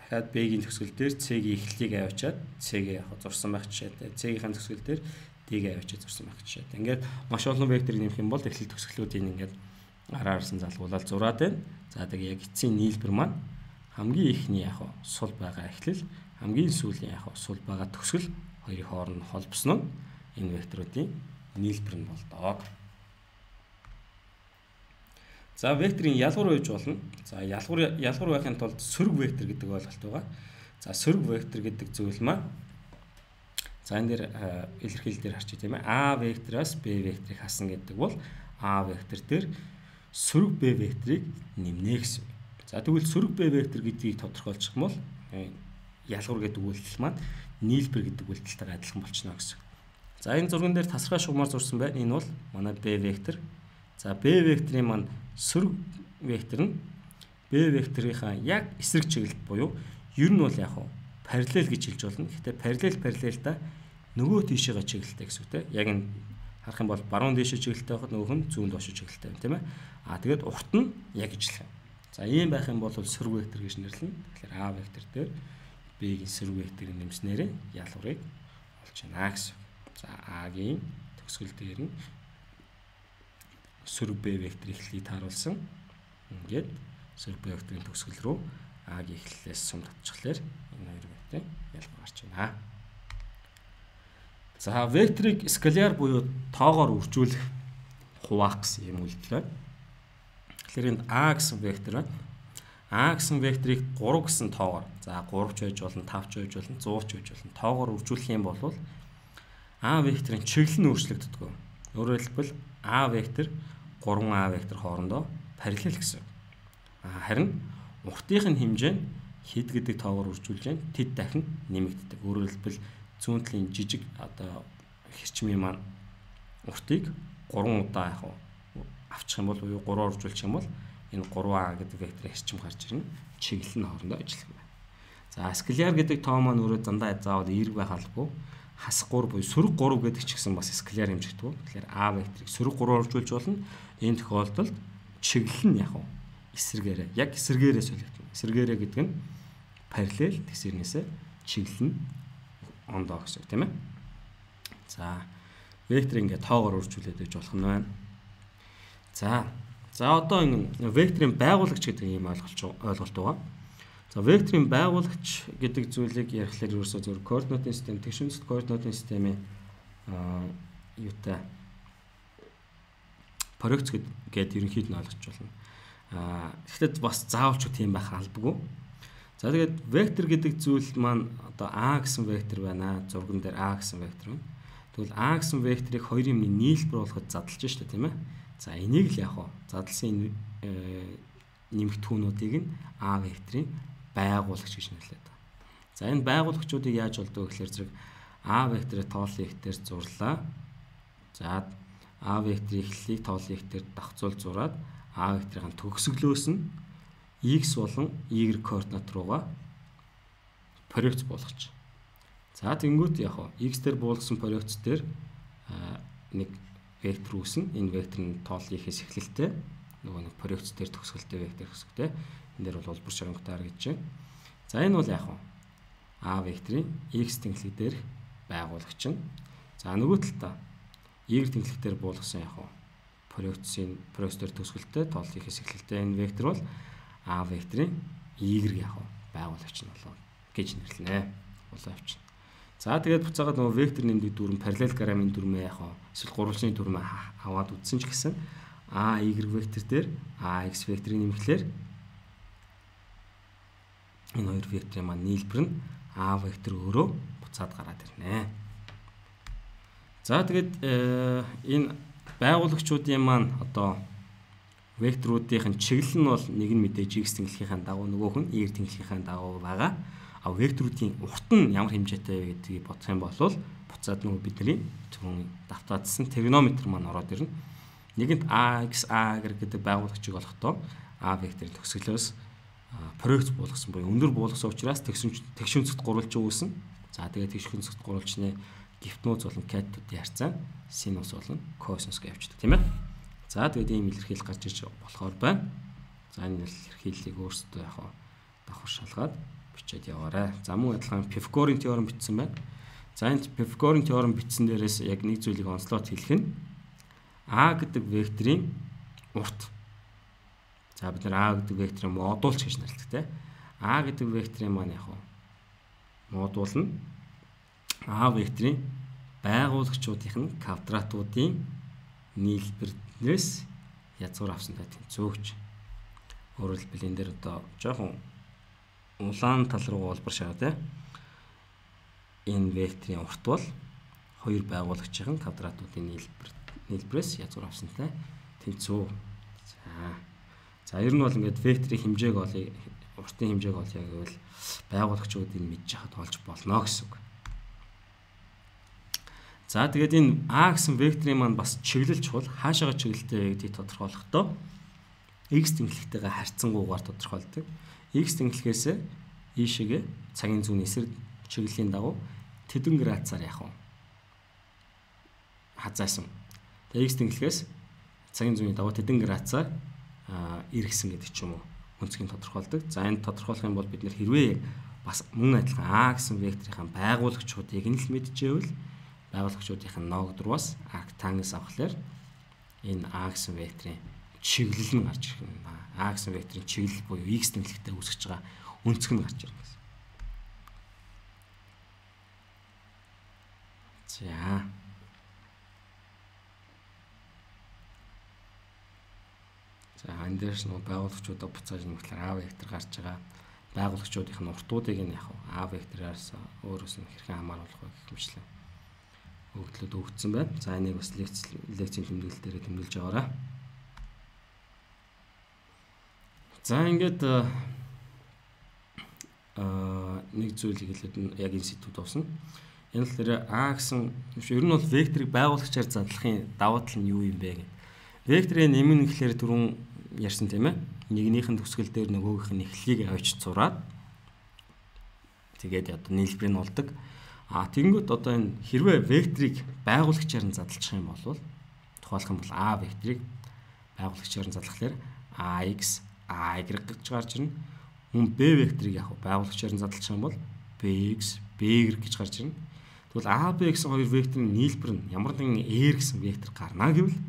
дахиад Б-ийн төгсгөл дээр С-ийн эхлэлийг аваачаад С-ийг яг зурсан байх жишээтэй. С-ийн төгсгөл дээр Д-ийг аваачаад зурсан байх жишээтэй. Ингээд маш олон векторыг нэмэх юм бол эхлэл төгсгөлүүдийн ингээд араарсан залгуулаад зураад байна. За тэгээд яг эцсийн нийлбэр маань хамгийн ихний яг сул байгаа эхлэл, хамгийн сүүлийн яг сул байгаа төгсгөл хоёрын хооронд холбосон нь энэ векторуудын нийлбэр нь болдог. За векторын ялгуур байж болно. За ялгуур ялгуур байхын тулд сөрөг вектор гэдэг ойлголт байгаа. За сөрөг вектор гэдэг зүйл маань за энэ дээр илэрхийлэл дээр харчих тийм ээ. А вектороос Б векторыг хасна гэдэг бол А вектор дээр сөрөг Б векторыг нэмнэ гэсэн. За тэгвэл сөрөг Б вектор гэдгийг тодорхойлчих юм бол ялгуур гэдэг үйлдэл маань нийлбэр гэдэг үйлдэлтэйгээ адилхан болчихно гэсэн. За энэ зурган дээр тасархай шугамар зурсан байна. Энэ бол манай Б вектор. За Б векторын маань сөрөг вектор нь Б векторынхаа яг эсрэг чиглэлд буюу ер нь бол яг хуу параллел гэж хэлж болно. Гэхдээ параллел параллелда нөгөө тийшээгээ чиглэлтэй гэсэн үг те. Яг энэ харах юм бол баруун тийшээ чиглэлтэй байхад нөгөөх нь зүүн доош чиглэлтэй байна тийм ээ. А тэгээд урт нь яг ижлэх. За ийм байх юм бол сөрөг вектор гэж нэрлэнэ. Тэгэхээр А вектор дээр Б-ийн сөрөг векторыг нэмснээр ялгуурыг олж байна гэсэн. За А-гийн төгсгөл дээр нь сөрөг Б векторын эхлэлийг тааруулсан. Ингээд сөрөг Б векторын төгсгөл рүү А-гийн эхлэлээс сум татчихлаар энэ хоёр векторын ялгуур гарч байна. За векторыг скаляр буюу тоогоор үржүүлэх хуваах гэсэн юм үйлдэл байна. Тэгэхээр энд А гэсэн вектор байна. А гэсэн векторыг гурав гэсэн тоогоор за гурав ч байж болно, тав ч байж болно, зуун ч байж болно тоогоор үржүүлэх юм бол А векторын чиглэл нь өөрчлөгддөг. Өөрөөр хэлбэл А вектор гурван А вектор хоорондоо параллел гэсэн. Харин уртынх нь хэмжээ нь хэд гэдэг тоогоор үржүүлж байна. Тэд дахин нэмэгддэг. Өөрөөр хэлбэл зүүн талын жижиг одоо хэрчмийн маань уртыг гурван удаа яг авчих юм бол буюу гурван үржүүлчих юм бол энэ гурван А гэдэг векторын хэрчим гарч ирнэ. Чиглэл нь хоорондоо ажиллах юм байна. За скаляр гэдэг тоо маань өөрөө дандаа заавал эерэг байх албагүй. хасгуур буюу сөрөг гурав гэдэг ч гэсэн бас скалаар хэмжигддэг. Тэгэхээр А векторыг сөрөг гурав оржуулж болно. Энэ тохиолдолд чиглэл нь яг эсрэгээрээ яг эсрэгээрээ солигдно. Эсрэгээрээ гэдэг нь параллел тэсэрнээсээ чиглэл нь ондоо гэсэн үг тийм ээ. За вектор ингээд тоогоор үржүүлээд байж болох нь байна. За за одоо энэ векторын байгуулагч гэдэг ийм ойлголт ойлголт байгаа. За векторын байгуулагч гэдэг зүйлийг ярихлаар ерөөсөө зөв координатын систем, тэгшинцэд координатын системийн аа юутай проекц гэдэг ерөнхийд нь ойлгож болно. Аа гэхдээ бас заавалч тийм байх албагүй. За тэгээд вектор гэдэг зүйл маань одоо А гэсэн вектор байна. Зурган дээр А гэсэн вектор байна. Тэгвэл А гэсэн векторыг хоёрын өмнө нийлбэр болгоход задлж штэ тийм ээ. За энийг л яг хоо задлсан нэмэгдэхүүнүүдийг нь А векторын байгуулагч гэж нэрлэдэг. За энэ байгуулагчдыг яаж болдог вэ гэхээр зэрэг А векторыг тоолын ихтер зурлаа. За А векторын эхлэлийг тоолын ихтер давхцуул зураад А векторын төгсгөлөөс нь x болон y координат руугаа проекц болгоч. За тэнгуут яг хоо x дээр буулгасан проекц дээр нэг вектор үүснэ. Энэ вектор нь тоолын ихээс эхлэлтэй нөгөө нэг проекц дээр төгсгөлтэй вектор хэсэгтэй. Энэ дээр бол улбар шоронготойр гэж байна. За энэ бол яг хоо А векторын x тэнхлэг дээр байгуулагч нь. За нөгөө талдаа y тэнхлэг дээр буулгасан яг хоо проекцийн проекц дээр төгсгөлтэй тоолын ихээс эхлэлтэй энэ вектор бол А векторын y яг хоо байгуулагч нь болоо гэж нэрлэнэ. Улаан авчин. За тэгээд буцаагаад нөгөө вектор нэмдэг дүрм параллелограммын дүрмээ яг хоо эсвэл гурвалжны дүрмээ аваад үтсэн ч гэсэн А y вектор дээр А x векторыг нэмэхлээр энэ хоёр векторын маань нийлбэр нь А вектор өөрөө буцаад гараад ирнэ. За тэгээд энэ байгуулагчдын маань одоо векторуудын чиглэл нь бол нэг нь мэдээж x тэнхлэгийн дагуу нөгөөх нь y тэнхлэгийн дагуу байгаа. А векторуудын урт нь ямар хэмжээтэй вэ гэдгийг бодох юм бол буцаад нөгөө бидний түрүүн давтаадсан тригонометр маань ороод ирнэ. Нэгэнд ax a-гэр гэдэг байгуулагчийг олохдоо a векторын төгсгөлөөс проекц буулгасан буюу өндөр буулгасан учраас тэгшүнцэд гурвалж үүснэ. За тэгээд тэгшүнцэд гурвалжны гифтнүүц болон катетуудын харьцаа синус болон косинус гэж явждаг тийм ээ. За тэгээд ийм илэрхийлэл гарч иж болохоор байна. За энэ илэрхийллийг өөрсдөө яг давхар шалгаад бичээд яваарай. За мөн адилхан Пифагорын теорем бичсэн байна. За энэ Пифагорын теорем бичсэн дээрээс яг нэг зүйлийг онцлоод хэлэх нь А гэдэг векторын урт. За бид нар А гэдэг векторын модулч гэж нэрлэдэг те. А гэдэг векторын маань яг модул нь А векторын байгуулагчдын нь квадратуудын нийлбэрнээс язгуур авсантай тэнцвүүч. Өөрөөр хэлбэл энэ дээр одоо жоохон улаан тал руу улбар шаа те. Энэ векторын урт бол хоёр байгуулагчийн квадратуудын нийлбэр нийлбэрээс язгуур авсантай тэнцүү. За. За ер нь бол ингээд векторын хэмжээг олъё, уртын хэмжээг олъё гэвэл байгуулагчдыг мэдж хахад олж болно гэсэн үг. За тэгээд энэ А гэсэн векторын маань бас чиглэл чухал. Хаашаага чиглэлтэй вэ гэдгийг тодорхойлохдоо x тэнхлэгтэйгээ харьцангуйгаар тодорхойлдог. X тэнхлэгээс ийшээгээ цагийн зүүн эсрэг чиглэлийн дагуу тэдэн градусаар яах вэ? Хазаасан. Тэгээд x тэнхлэгээс цагийн зүүний дагуу тэдэн градусаар эргэсэн гэдэг ч юм уу өнцгийг тодорхойлдог. За энэ тодорхойлох юм бол бид нэр хэрвээ бас мөн адилхан А гэсэн векторын байгуулагчдыг нь л мэдчихвэл байгуулагчдын ногдруус арктангенс авахлаар энэ А гэсэн векторын чиглэл нь гарч ирэх юм. А гэсэн векторын чиглэл буюу x тэнхлэгтэй үүсгэж байгаа өнцөг нь гарч ирнэ гэсэн. За. За энэ дээрс нөө байгуулагчдаа буцааж нэмэхлээр А вектор гарч байгаа. Байгуулагчдын уртуудыг нь яг А вектороос өөрөөс нь хэрхэн хамааруулах вэ гэх мэтлээ өгдлөд өгдсөн байна. За энийг бас лекц лекцийн тэмдэглэл дээр тэмдэглэж байгаарай. За ингээд аа нэг зүйлийг хэлээд яг энэ сэдвүүд авсан. Энэ л дээр А гэсэн ер нь бол векторыг байгуулагчаар задлахын давуу тал нь юу юм бэ гэх. Векторын нэмэн гэхлээр түрүүн ярьсан тийм ээ. Нэгнийхэн төгсгөл дээр нөгөөгийнх нь эхлэлийг авчиж зураад тэгээд одоо нийлбэр нь болдог. А тэгэнгүүт одоо энэ хэрвээ векторыг байгуулагчаар нь задлах юм бол тухайлах юм бол А векторыг байгуулагчаар нь задлахлаар ax, ay гэж гарч ирнэ. Мөн b векторыг яг байгуулагчаар нь задлах юм бол bx, by гэж гарч ирнэ. Тэгвэл a, b гэсэн хоёр векторын нийлбэр нь ямар нэгэн r гэсэн вектор гарна гэвэл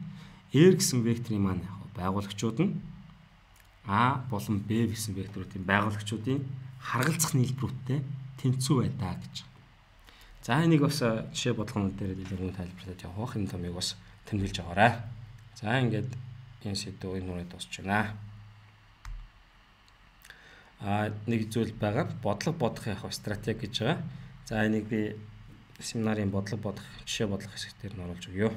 r гэсэн векторын маань яг байгуулагчууд нь a болон b гэсэн векторуудын байгуулагчуудын харгалзах нийлбэрүүдтэй тэнцүү байдаа гэж. За энийг бас жишээ бодлогонууд дээр илүү хүн тайлбарлаад явах энэ томыг бас тэмдэглэж байгаарай. За ингээд энэ сэдв энэ нүрээ дуусч байна. А нэг зүйл байгаа бодлого бодох яг стратеги гэж байгаа. За энийг би семинарын бодлого бодох жишээ бодлого хэсэг дээр нь оруулж өгье.